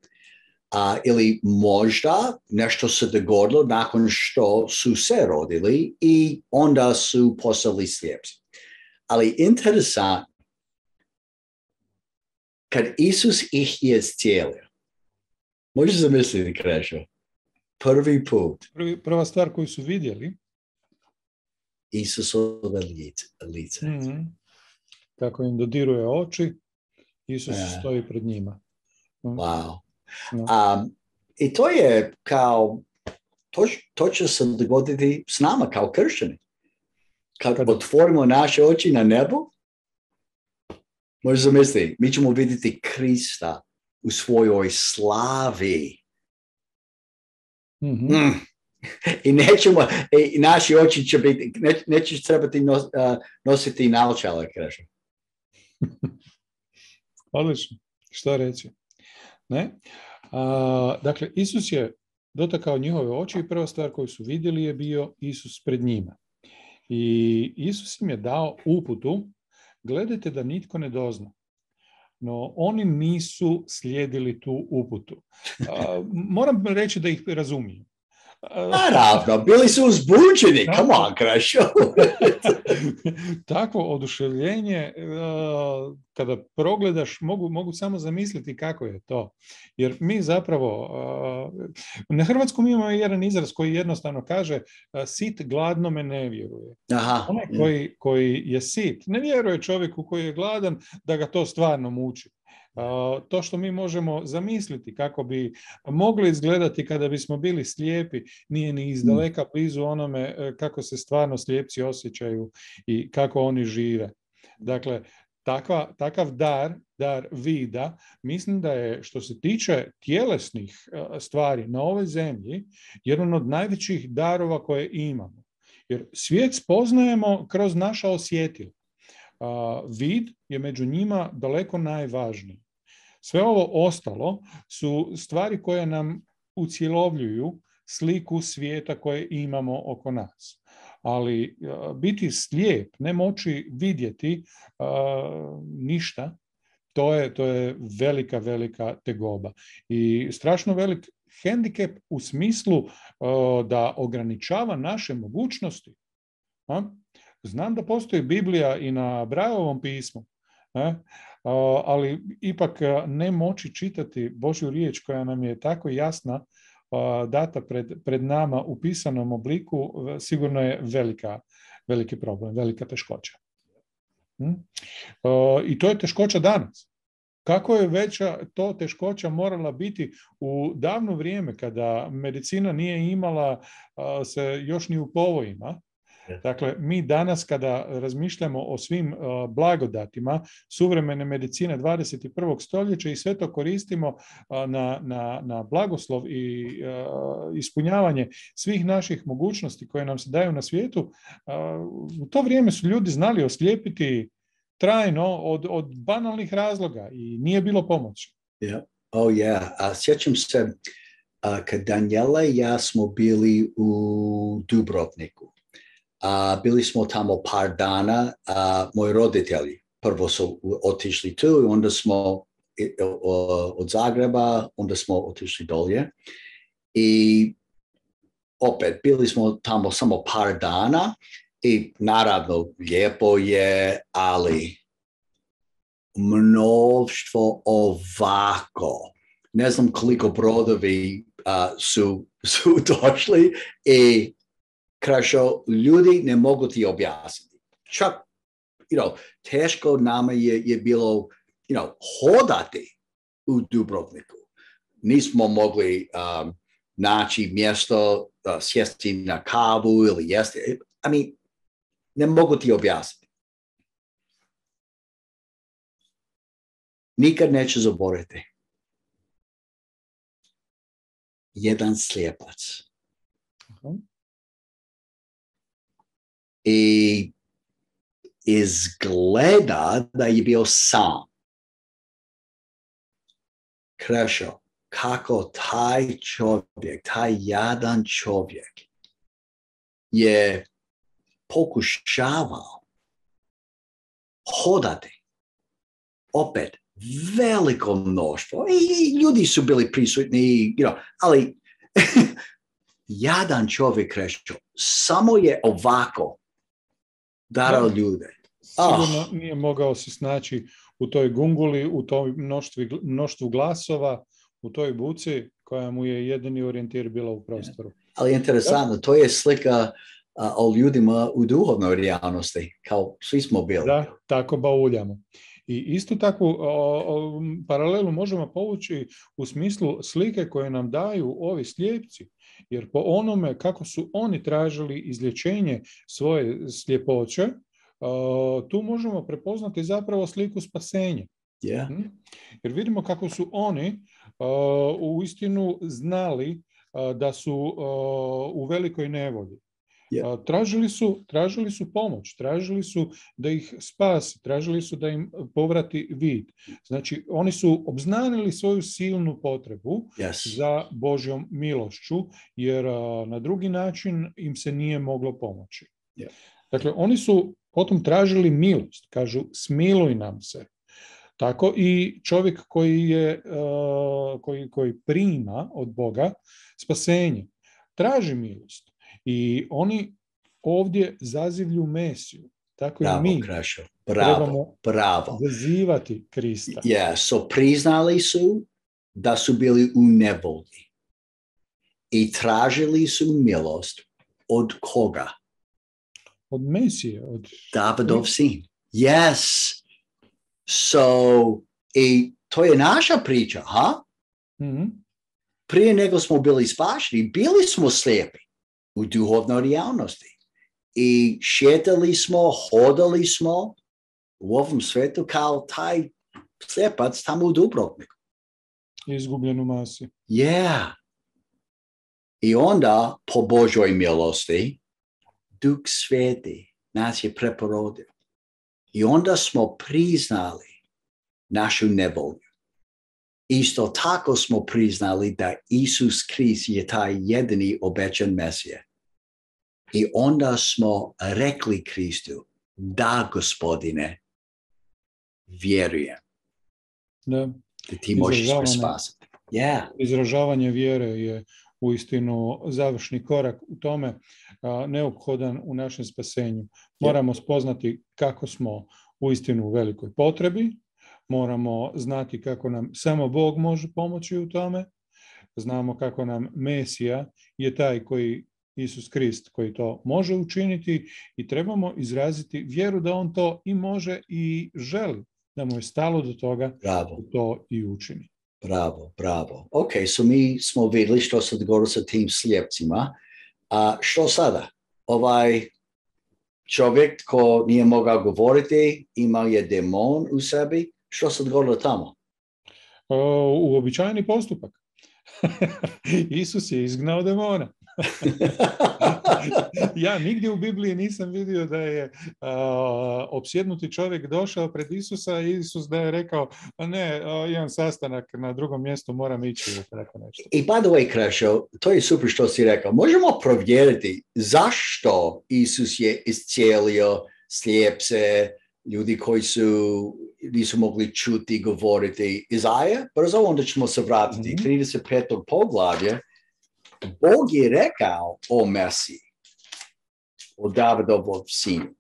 a, ili možda nešto se dogodilo nakon što su se rodili i onda su postali slijepci. Ali interesantno, kad Isus ih je iscijelio, možeš zamisliti, Krešo, prvi put. Prvi, prva stvar koju su vidjeli, Isusove lice. Mm-hmm. Kako im dodiruje oči, Isus yeah. stoji pred njima. Mm. Wow. No. Um, I to je kao, to, to će se dogoditi s nama kao kršćani. Kad, Kad otvorimo naše oči na nebo, možeš zamisliti, mi ćemo vidjeti Krista u svojoj slavi. Mm-hmm. Mm. I nećemo, i naši oči će biti, ne, nećeš trebati nos, uh, nositi naočale, Krešo. Odlično. Što reći? Ne? A, dakle, Isus je dotakao njihove oči i prva stvar koju su vidjeli je bio Isus pred njima. I Isus im je dao uputu, gledajte da nitko ne dozna. No, oni nisu slijedili tu uputu. A, moram reći da ih razumijem. Naravno, bili su uzbuđeni, come on, Krešo. Takvo oduševljenje, kada progledaš, mogu, mogu samo zamisliti kako je to. Jer mi zapravo, na hrvatskom imamo jedan izraz koji jednostavno kaže, sit gladnome ne vjeruje. Aha. Onaj koji, koji je sit, ne vjeruje čovjeku koji je gladan da ga to stvarno muči. Uh, to što mi možemo zamisliti kako bi mogli izgledati kada bismo bili slijepi, nije ni izdaleka blizu onome kako se stvarno slijepci osjećaju i kako oni žive. Dakle, takva, takav dar, dar vida, mislim da je, što se tiče tjelesnih stvari na ovoj zemlji, jedan od najvećih darova koje imamo. Jer svijet spoznajemo kroz naša osjetila. Vid je među njima daleko najvažniji. Sve ovo ostalo su stvari koje nam ucjelovljuju sliku svijeta koje imamo oko nas. Ali biti slijep, ne moći vidjeti uh, ništa, to je, to je velika, velika tegoba. I strašno velik hendikep u smislu uh, da ograničava naše mogućnosti. A? Znam da postoji Biblija i na Braillovom pismu, a? Uh, ali ipak ne moći čitati Božju riječ koja nam je tako jasna, data pred, pred nama u pisanom obliku, sigurno je velika, veliki problem, velika teškoća. Hm? I to je teškoća danas. Kako je veća to teškoća morala biti u davno vrijeme kada medicina nije imala se još ni u povojima. Dakle, mi danas kada razmišljamo o svim uh, blagodatima suvremene medicine dvadeset prvog stoljeća i sve to koristimo uh, na, na, na blagoslov i uh, ispunjavanje svih naših mogućnosti koje nam se daju na svijetu, uh, u to vrijeme su ljudi znali oslijepiti trajno od, od banalnih razloga i nije bilo pomoći. Yeah. Oh yeah. Uh, sjećam se uh, kad Daniela i ja smo bili u Dubrovniku. Uh, bili smo tamo par dana, uh, moji roditelji prvo su otišli tu i onda smo uh, od Zagreba, onda smo otišli dolje i opet bili smo tamo samo par dana i naravno lijepo je, ali mnoštvo ovako. Ne znam koliko brodovi uh, su, su došli i Krašo, ljudi ne mogu ti objasniti. Čak, you know, teško nama je, je bilo, you know, hodati u Dubrovniku. Nismo mogli um, naći mjesto, uh, sjesti na kavu ili jesti. I mean, ne mogu ti objasniti. Nikad neće zaboraviti. Jedan slijepac. Uh-huh. I izgleda da je bio sam. Krešo, kako taj čovjek, taj jadan čovjek je pokušavao hodati. Opet, veliko mnoštvo. I ljudi su bili prisutni, you know, ali jadan čovjek, Krešo, samo je ovako darao ljude. Sigurno oh. nije mogao se snaći u toj gunguli, u toj mnoštvi, mnoštvu glasova, u toj buci koja mu je jedini orijentir bila u prostoru. Ali interesantno, to je slika uh, o ljudima u duhovnoj realnosti, kao svi smo bili. Da, tako bauljamo. I isto takvu o, o, paralelu možemo povući u smislu slike koje nam daju ovi slijepci. Jer po onome kako su oni tražili izlječenje svoje sljepoće, uh, tu možemo prepoznati zapravo sliku spasenja. Yeah. Jer vidimo kako su oni uh, uistinu znali uh, da su uh, u velikoj nevolji. Yeah. Uh, tražili su, tražili su pomoć, tražili su da ih spasi, tražili su da im povrati vid. Znači, oni su obznanili svoju silnu potrebu yes. za Božjom milošću, jer uh, na drugi način im se nije moglo pomoći. Yeah. Dakle, oni su potom tražili milost, kažu smiluj nam se. Tako i čovjek koji, je, uh, koji, koji prima od Boga spasenje, traži milost. I oni ovdje zazivlju Mesiju. Tako bravo, i mi Krašo. Bravo, trebamo bravo. zazivati Krista. Yeah, so priznali su da su bili u nevolji i tražili su milost od koga? Od Mesije. Od... Davidov sin. Yes. So, i to je naša priča, ha? Mm-hmm. Prije nego smo bili spašeni, bili smo slijepi u duhovnoj realnosti. I šetali smo, hodali smo u ovom svetu kao taj slijepac tamo u Dubrovniku. Izgubljen u masi. Yeah. I onda, po Božoj milosti, Duh Sveti nas je preporodio. I onda smo priznali našu nevolju. Isto tako smo priznali da Isus Krist je taj jedini obećan Mesija. I onda smo rekli Kristu, da, Gospodine, vjerujem. Da. Da ti možeš me spasiti. Yeah. Izražavanje vjere je uistinu završni korak u tome, a, neophodan u našem spasenju. Moramo spoznati kako smo uistinu u velikoj potrebi, moramo znati kako nam samo Bog može pomoći u tome, znamo kako nam Mesija je taj koji, Isus Krist, koji to može učiniti i trebamo izraziti vjeru da on to i može i želi, da mu je stalo do toga da to i učini. Bravo, bravo. Ok, so mi smo vidjeli što se dogodilo sa tim slijepcima. A što sada? Ovaj čovjek ko nije mogao govoriti, imao je demon u sebi. Što se dogodilo tamo? Uobičajeni postupak. Isus je izgnao demona. Ja nigdje u Bibliji nisam vidio da je a, opsjednuti čovjek došao pred Isusa i Isus da je rekao, ne, a, imam sastanak na drugom mjestu, moram ići. Nešto. I by the way, Krešo, to je super što si rekao. Možemo provjeriti zašto Isus je iscijelio slijepce, ljudi koji su nisu mogli čuti, govoriti. Izaja, brzo onda ćemo se vratiti. Mm-hmm. trideset peto poglavlje. Bog je rekao o Mesiji, o Davidovom sinu,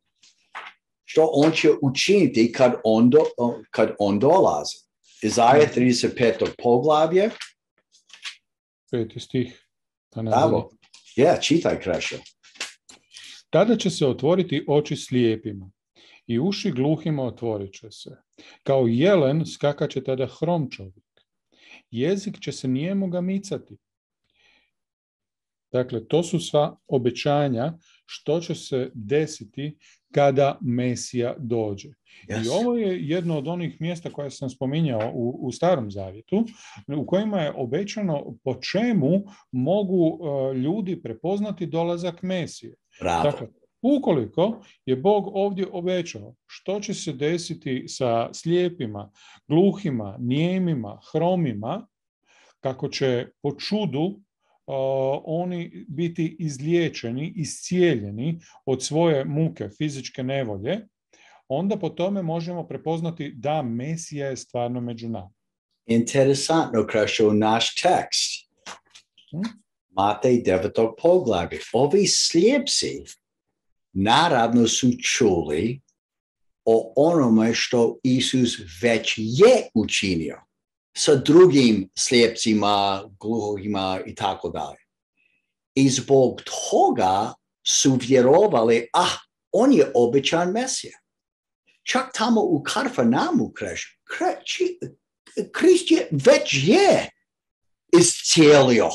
što on će učiniti kad on, do, kad on dolazi. Izaja trideset peto poglavlje. Peti stih. Bravo. Ja, čitaj, Krešo. Tada će se otvoriti oči slijepima i uši gluhima otvorit će se. Kao jelen skakaće tada hrom čovjek. Jezik će se nijemoga micati. Dakle, to su sva obećanja što će se desiti kada Mesija dođe. Yes. I ovo je jedno od onih mjesta koje sam spominjao u, u Starom Zavjetu, u kojima je obećano po čemu mogu uh, ljudi prepoznati dolazak Mesije. Bravo. Dakle, ukoliko je Bog ovdje obećao što će se desiti sa slijepima, gluhima, nijemima, hromima, kako će po čudu Uh, oni biti izliječeni, iscijeljeni od svoje muke, fizičke nevolje, onda po tome možemo prepoznati da Mesija je stvarno među nama. Interesantno, Krešo, naš tekst. Hmm? Matej devetog poglavlje. Ovi slijepci naravno su čuli o onome što Isus već je učinio sa drugim slijepcima, gluhima i tako dalje. I zbog toga su vjerovali, ah, on je obećan Mesija. Čak tamo u Kafarnaumu, Krist je već je iscijelio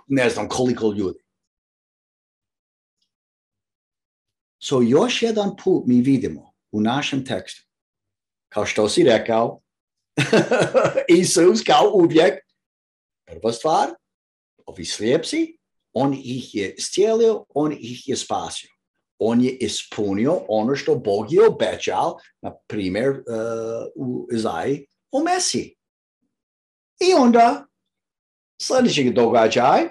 ne znam koliko ljudi. So još jedan put mi vidimo u našem tekstu, kao što si rekao, Isus kao uvijek, prva stvar, ovi slijepci, on ih je iscijelio, on ih je spasio. On je ispunio ono što Bog je obećao, na primjer uh, u Izaji o Mesiji. I onda sljedeći događaj,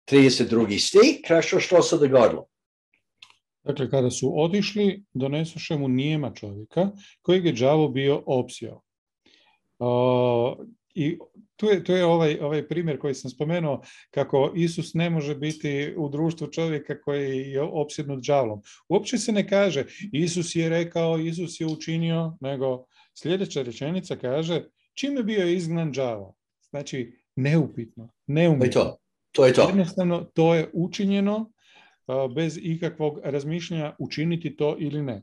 trideset drugi stih, Krešo, što se dogodilo? Dakle, kada su otišli, donesoše mu nijema čovjeka, kojeg je đavo bio opsjao. Uh, I tu je, tu je ovaj, ovaj primjer koji sam spomenuo, kako Isus ne može biti u društvu čovjeka koji je opsjednut đavlom. Uopće se ne kaže Isus je rekao, Isus je učinio, nego sljedeća rečenica kaže čime bio izgnan đavo. Znači, neupitno, neumjetno. To je to. To je to. Jednostavno, to je učinjeno uh, bez ikakvog razmišljanja učiniti to ili ne.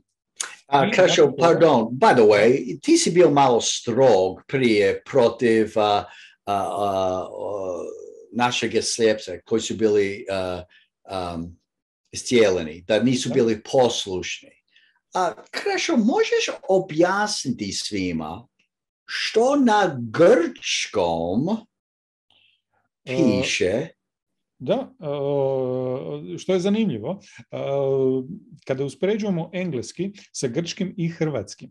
Uh, Krešo, pardon, by the way, ti si bio malo strog prije protiv uh, uh, uh, našeg slijepca koji su bili uh, um, iscijeleni, da nisu bili poslušni. A, Krešo, možeš objasniti svima što na grčkom piše? Uh, da, uh, što je zanimljivo, uh, kada uspoređujemo engleski sa grčkim i hrvatskim,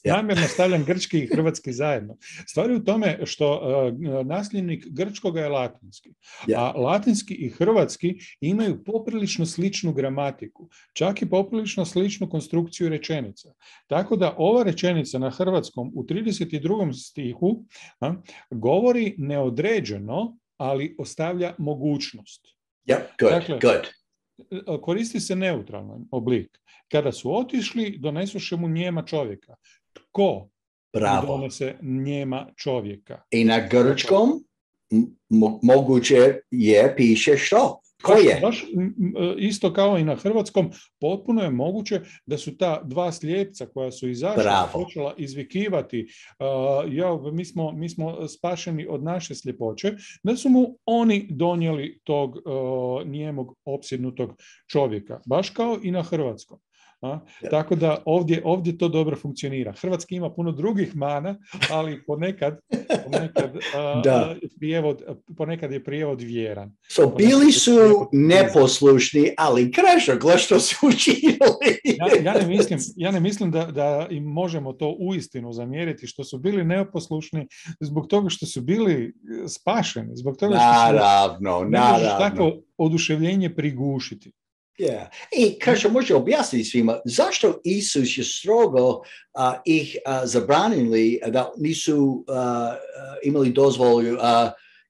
namjerno stavljam grčki i hrvatski zajedno. Stvar je u tome što uh, nasljednik grčkoga je latinski, yeah. a latinski i hrvatski imaju poprilično sličnu gramatiku, čak i poprilično sličnu konstrukciju rečenica. Tako da ova rečenica na hrvatskom u trideset drugom stihu a, govori neodređeno, ali ostavlja mogućnost. Yep, good, dakle, good. Koristi se neutralan oblik. Kada su otišli, donesuše mu njema čovjeka. Tko Bravo. donese njema čovjeka? I na grčkom mo- moguće je, piše što? Ko je? Baš, isto kao i na hrvatskom, potpuno je moguće da su ta dva slijepca koja su izašla, počela izvikivati uh, ja, mi, smo, mi smo spašeni od naše sljepoće, da su mu oni donijeli tog uh, nijemog opsjednutog čovjeka, baš kao i na hrvatskom. A? Ja. Tako da ovdje, ovdje to dobro funkcionira. Hrvatski ima puno drugih mana, ali ponekad, ponekad, a, prijevod, ponekad je prijevod vjeran. So, bili su neposlušni, ali Krešo, gle što su učinili. ja, ja ne mislim, ja ne mislim da, da im možemo to uistinu zamjeriti, što su bili neposlušni zbog toga što su bili spašeni, zbog toga što su naravno, ne naravno. možeš tako oduševljenje prigušiti. Yeah. I Krešo može objasniti svima zašto Isus je strogo uh, ih uh, zabranili da nisu uh, uh, imali dozvolu uh,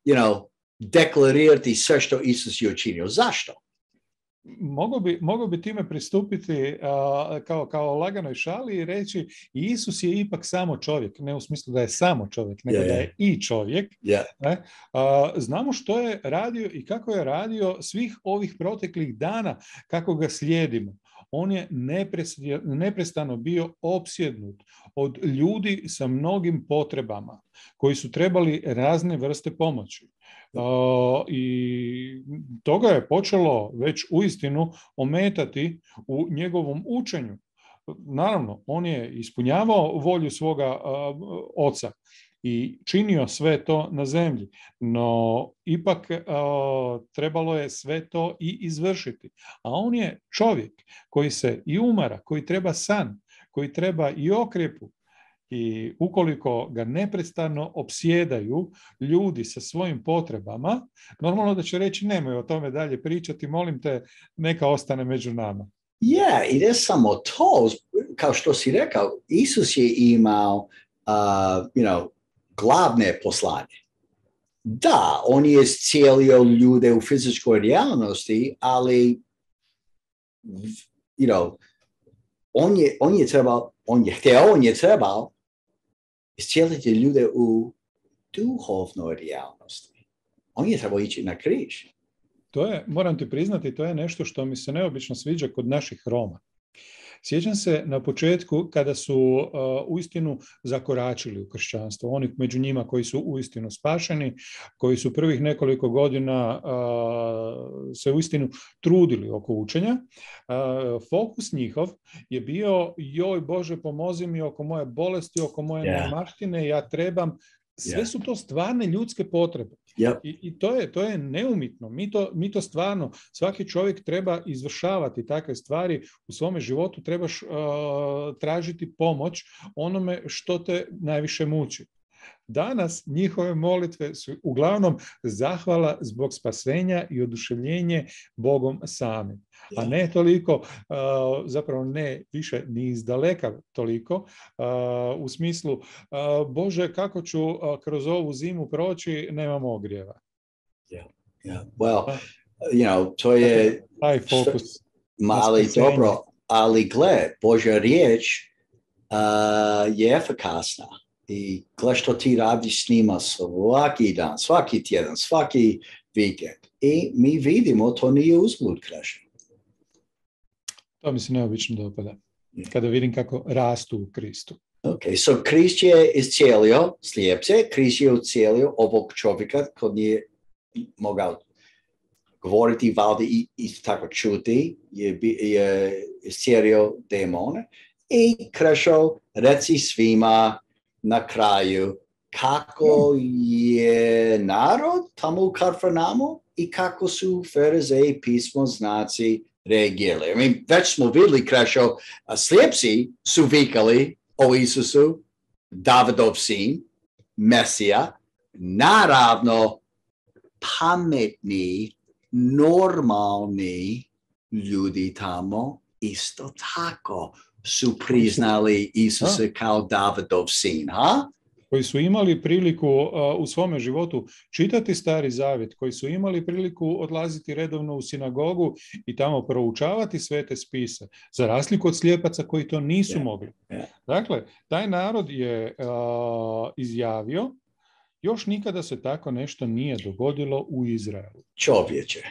you know, deklarirati sve što Isus je učinio. Zašto? Mogu bi, mogu bi time pristupiti uh, kao, kao laganoj šali i reći Isus je ipak samo čovjek, ne u smislu da je samo čovjek, nego yeah, da je i čovjek. Yeah. Ne? Uh, znamo što je radio i kako je radio svih ovih proteklih dana, kako ga slijedimo. On je neprestano bio opsjednut od ljudi sa mnogim potrebama koji su trebali razne vrste pomoći. Uh, i toga je počelo već uistinu ometati u njegovom učenju. Naravno, on je ispunjavao volju svoga uh, oca i činio sve to na zemlji, no ipak uh, trebalo je sve to i izvršiti. A on je čovjek koji se i umara, koji treba san, koji treba i okrjepu. I ukoliko ga neprestano opsjedaju ljudi sa svojim potrebama, normalno da će reći nemoj o tome dalje pričati, molim te, neka ostane među nama. Ja, yeah, i ne samo to, kao što si rekao, Isus je imao uh, you know, glavne poslanje. Da, on je iscijelio ljude u fizičkoj realnosti, ali you know, on je, on je trebao, on je htio, on je trebao iscijeliti ljude u duhovnoj realnosti. On je trebao ići na križ. To je, moram ti priznati, to je nešto što mi se neobično sviđa kod naših Roma. Sjećam se na početku kada su uh, uistinu zakoračili u kršćanstvo. Oni među njima koji su uistinu spašeni, koji su prvih nekoliko godina uh, se uistinu trudili oko učenja. Uh, fokus njihov je bio joj Bože pomozi mi oko moje bolesti, oko moje yeah. nemaštine, ja trebam. Sve yeah. su to stvarne ljudske potrebe. Yep. I, i to, je, to je neumitno. Mi to, mi to stvarno, svaki čovjek treba izvršavati takve stvari u svome životu, trebaš uh, tražiti pomoć onome što te najviše muči. Danas njihove molitve su uglavnom zahvala zbog spasenja i oduševljenje Bogom samim. A ne toliko, zapravo ne više ni izdaleka toliko, u smislu Bože kako ću kroz ovu zimu proći, nemam ogrijeva. Yeah, yeah. Well, you know, to je taj fokus. Ali dobro, ali gle, Božja riječ uh, je efikasna. I gle što ti radiš s njima svaki dan, svaki tjedan, svaki vikend. I mi vidimo, to nije uzblud, Krešo. To mi se neobično dopada. Kada vidim kako rastu u Kristu. Ok, so Krist je iscijelio slijepce, Krist je iscijelio ovog čovjeka koji nije mogao govoriti, valjda i, i tako čuti, je, je iscijelio demone. I Krešo, reci svima na kraju kako je narod tamo u Kafarnaumu i kako su farizeji pismoznaci reagirali. I mean, već smo vidjeli, Krešo, slijepci su vikali o Isusu, Davidov sin, Mesija, naravno pametni, normalni ljudi tamo isto tako su priznali Isusa kao Davidov sin, ha? Koji su imali priliku uh, u svome životu čitati Stari Zavjet, koji su imali priliku odlaziti redovno u sinagogu i tamo proučavati svete spise, za razliku od slijepaca koji to nisu yeah. mogli. Yeah. Dakle, taj narod je uh, izjavio, još nikada se tako nešto nije dogodilo u Izraelu. Čovječe.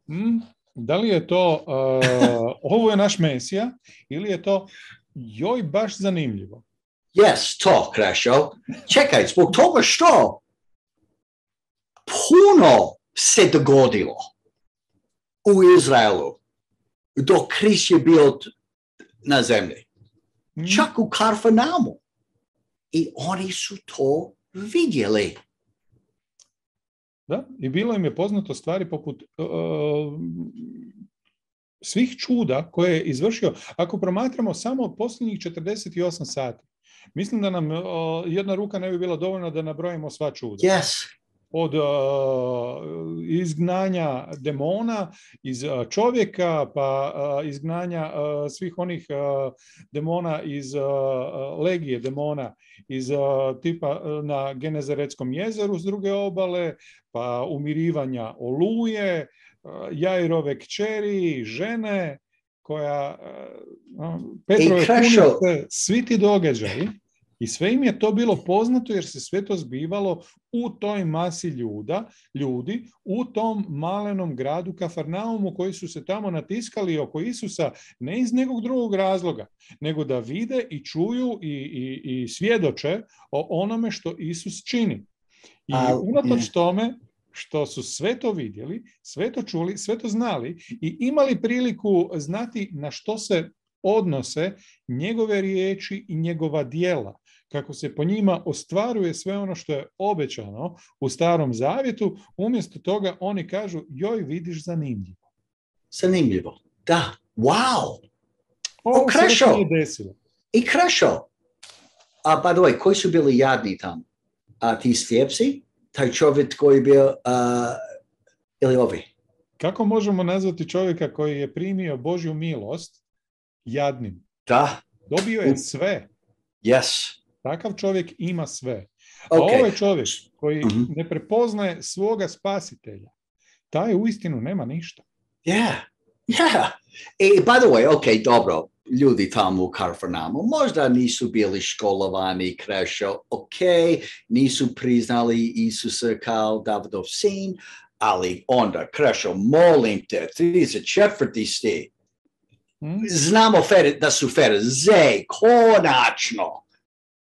Hmm? Da li je to, uh, ovo je naš Mesija, ili je to, joj, baš zanimljivo? Yes, to, Krešo. Čekaj, zbog toga što puno se dogodilo u Izraelu dok Krist je bio na zemlji. Hmm. Čak u Kafarnaumu. I oni su to vidjeli. Da, i bilo im je poznato stvari poput uh, svih čuda koje je izvršio. Ako promatramo samo posljednjih četrdeset osam sati, mislim da nam uh, jedna ruka ne bi bila dovoljna da nabrojimo sva čuda. Yes. Od uh, izgnanja demona iz uh, čovjeka, pa uh, izgnanja uh, svih onih uh, demona iz uh, legije demona iz uh, tipa uh, na Genezaretskom jezeru s druge obale, pa umirivanja Oluje, uh, Jairove kćeri, žene koja uh, Petrove punice, svi ti događaji. I sve im je to bilo poznato jer se sve to zbivalo u toj masi ljuda, ljudi, u tom malenom gradu Kafarnaumu koji su se tamo natiskali oko Isusa ne iz nekog drugog razloga, nego da vide i čuju i, i, i svjedoče o onome što Isus čini. I unatoč tome što su sve to vidjeli, sve to čuli, sve to znali i imali priliku znati na što se odnose njegove riječi i njegova djela, kako se po njima ostvaruje sve ono što je obećano u Starom Zavjetu, umjesto toga oni kažu, joj, vidiš, zanimljivo. Zanimljivo, da, wow! O, Krešo! Desilo. I Krešo! A, by the way, koji su bili jadni tamo? A ti slijepci? Taj čovjek koji je bio, uh, ili ovi? Kako možemo nazvati čovjeka koji je primio Božju milost jadnim? Da. Dobio je sve. Yes. Takav čovjek ima sve. A okay. ovaj čovjek koji mm-hmm. ne prepoznaje svoga spasitelja, taj uistinu nema ništa. Yeah, yeah. I by the way, ok, dobro, ljudi tamo u Kafarnaumu možda nisu bili školovani, Krešo, ok, nisu priznali Isusa kao Davidov sin, ali onda, Krešo, molim te, trideset četvrti stih. Hmm? Znamo da su farizeji konačno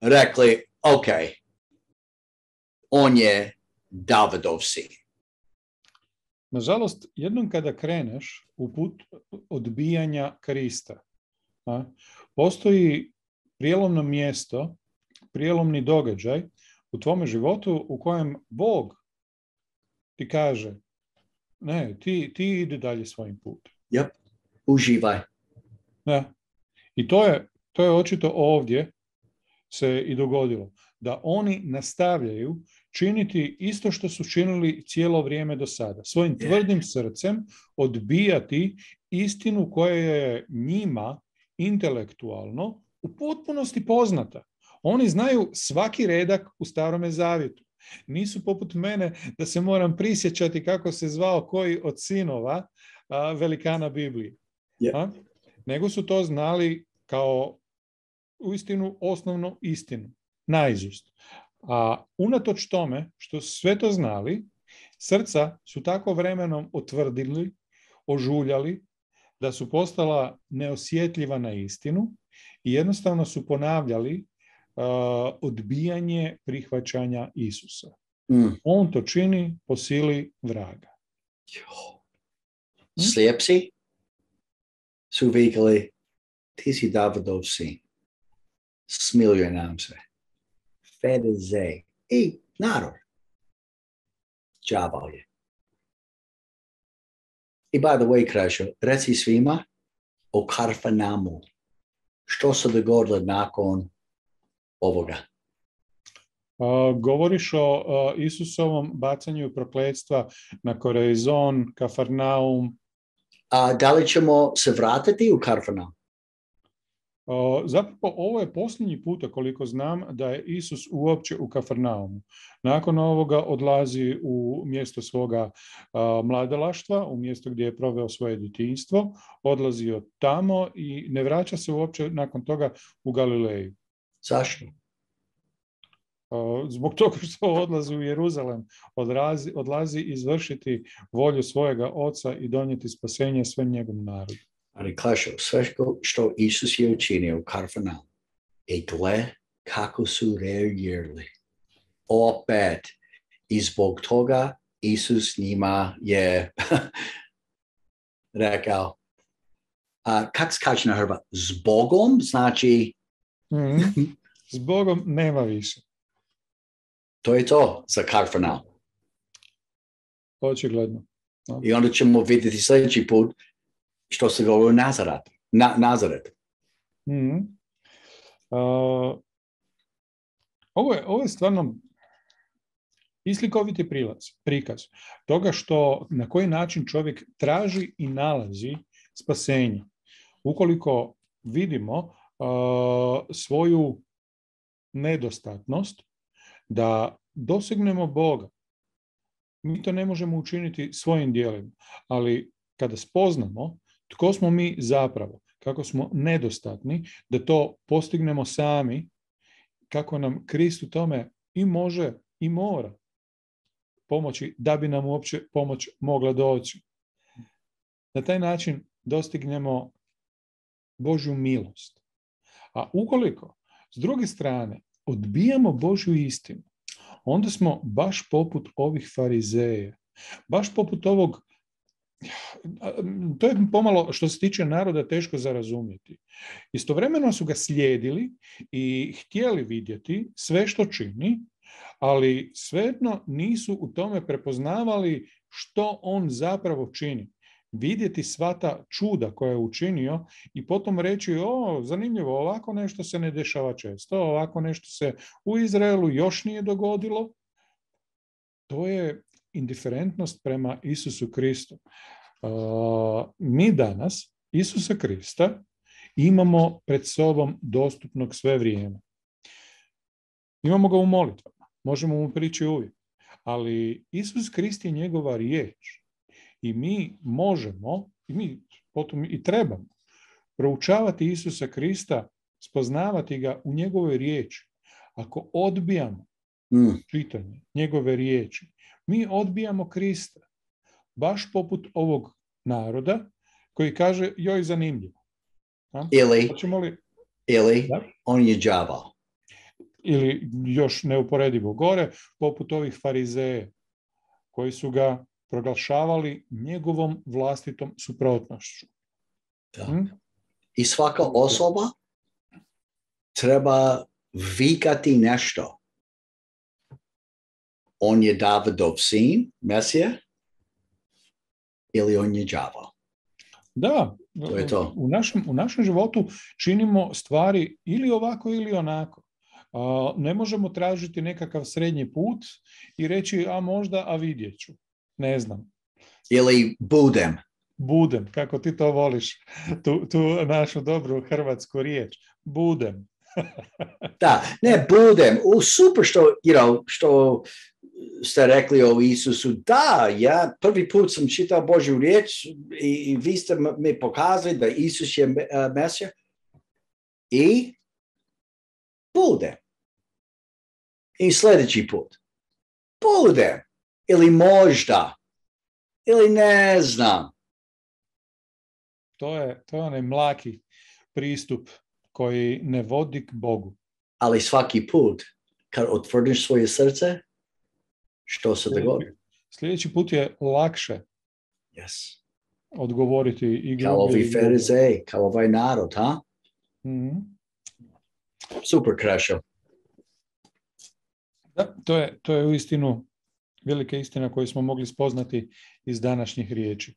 rekli, ok, on je Davidov sin. Nažalost, jednom kada kreneš u put odbijanja Krista, a, postoji prijelomno mjesto, prijelomni događaj u tvome životu u kojem Bog ti kaže, ne, ti, ti ide dalje svojim putem. Yep, uživaj. Da. I to je, to je očito ovdje se i dogodilo, da oni nastavljaju činiti isto što su činili cijelo vrijeme do sada. Svojim tvrdim srcem odbijati istinu koja je njima intelektualno u potpunosti poznata. Oni znaju svaki redak u Starome Zavjetu. Nisu poput mene da se moram prisjećati kako se zvao koji od sinova a, velikana Biblije. Yeah. Nego su to znali kao uistinu osnovnu istinu, naizust. A unatoč tome što su sve to znali, srca su tako vremenom otvrdili, ožuljali, da su postala neosjetljiva na istinu i jednostavno su ponavljali uh, odbijanje prihvaćanja Isusa. Mm. On to čini po sili vraga. Slijepci su vikali, ti si Davidov sin. Smiljuje nam se. Farizej. I narod. Đavao je. I by the way, Krešo, reci svima o Kafarnaumu. Što se dogodilo nakon ovoga? Uh, govoriš o uh, Isusovom bacanju prokletstva na Korazon, Kafarnaum. A da li ćemo se vratiti u Kafarnaum? Uh, zapravo ovo je posljednji puta koliko znam da je Isus uopće u Kafarnaumu. Nakon ovoga odlazi u mjesto svoga uh, mladalaštva, u mjesto gdje je proveo svoje djetinjstvo, odlazi od tamo i ne vraća se uopće nakon toga u Galileju. Zašto? Uh, zbog toga što odlazi u Jeruzalem, odlazi, odlazi izvršiti volju svojega oca i donijeti spasenje svem njegovom narodu. Ali Krešo, sve što Isus je učinio u Kafarnaumu i gle kako su reagirali. Opet. I zbog toga Isus njima je rekao, a, kak se kaže na Hrvat? Zbogom znači... Mm-hmm. Zbogom nema više. To je to za Kafarnaum. Očigledno. No. I onda ćemo vidjeti sljedeći put što se govori o Nazaretu. Na, Nazaret. Mm-hmm. Uh, ovo, je, ovo je stvarno islikoviti prilaz, prikaz toga što na koji način čovjek traži i nalazi spasenje. Ukoliko vidimo uh, svoju nedostatnost da dosegnemo Boga, mi to ne možemo učiniti svojim djelima, ali kada spoznamo tko smo mi zapravo, kako smo nedostatni, da to postignemo sami, kako nam Krist u tome i može i mora pomoći da bi nam uopće pomoć mogla doći. Na taj način dostignemo Božju milost. A ukoliko, s druge strane, odbijamo Božju istinu, onda smo baš poput ovih farizeja, baš poput ovog, to je pomalo što se tiče naroda teško za razumjeti. Istovremeno su ga slijedili i htjeli vidjeti sve što čini, ali svejedno nisu u tome prepoznavali što on zapravo čini. Vidjeti sva ta čuda koja je učinio i potom reći, o, zanimljivo, ovako nešto se ne dešava često, ovako nešto se u Izraelu još nije dogodilo. To je indiferentnost prema Isusu Kristu. Uh, mi danas Isusa Krista imamo pred sobom dostupnog sve vrijeme. Imamo ga u molitvama, možemo mu prići uvijek, ali Isus Krist je njegova riječ i mi možemo, i mi potom i trebamo proučavati Isusa Krista, spoznavati ga u njegovoj riječi. Ako odbijamo mm. čitanje njegove riječi, mi odbijamo Krista, baš poput ovog naroda koji kaže, joj, zanimljivo. A? Ili, li... ili on je đavao. Ili još neuporedivo gore, poput ovih farizeja koji su ga proglašavali njegovom vlastitom suprotnošću. Da. Hmm? I svaka osoba treba vikati nešto. On je Davidov sin, Mesija, ili on je đavao. Da, to je to. U, našem, u našem životu činimo stvari ili ovako ili onako. Uh, ne možemo tražiti nekakav srednji put i reći, a možda, a vidjet ću. Ne znam. Ili budem. Budem, kako ti to voliš, tu, tu našu dobru hrvatsku riječ. Budem. Da, ne budem. U super što, you know, što ste rekli o Isusu. Da, ja prvi put sam čitao Božju riječ i, i vi ste mi pokazali da Isus je uh, Mesija. I budem. I sljedeći put. Budem. Ili možda. Ili ne znam. To je, to je onaj mlaki pristup koji ne vodi k Bogu. Ali svaki put kad otvoriš svoje srce, što se dogodi? Sljedeći put je lakše yes. odgovoriti i kao ovi farizeji, kao ovaj narod, ha? Mm-hmm. Super, Krešo. Da, to je, to je uistinu velika istina koju smo mogli spoznati iz današnjih riječi.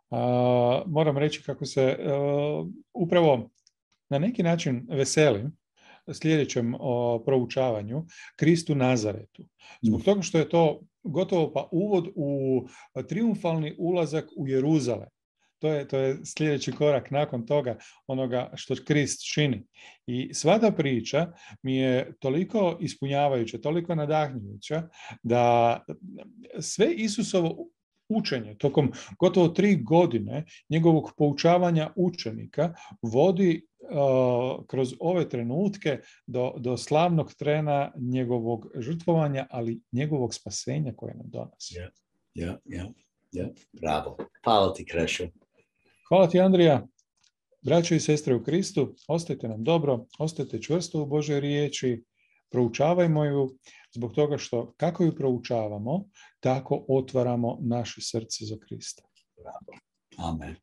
A, moram reći kako se a, upravo na neki način veselim sljedećem o, proučavanju Kristu Nazaretu. Zbog toga što je to gotovo pa uvod u triumfalni ulazak u Jeruzalem. To je, to je sljedeći korak nakon toga, onoga što Krist čini. I sva ta priča mi je toliko ispunjavajuća, toliko nadahnjujuća, da sve Isusovo učenje tokom gotovo tri godine njegovog poučavanja učenika vodi uh, kroz ove trenutke do, do slavnog trena njegovog žrtvovanja, ali njegovog spasenja koje nam donosi. Ja, ja, ja, ja. Bravo. Hvala ti, Krešo. Hvala ti, Andrija. Braćo i sestre u Kristu, ostajte nam dobro, ostajte čvrsto u Božoj riječi, proučavajmo ju, zbog toga što kako ju proučavamo, tako otvaramo naše srce za Krista. Amen.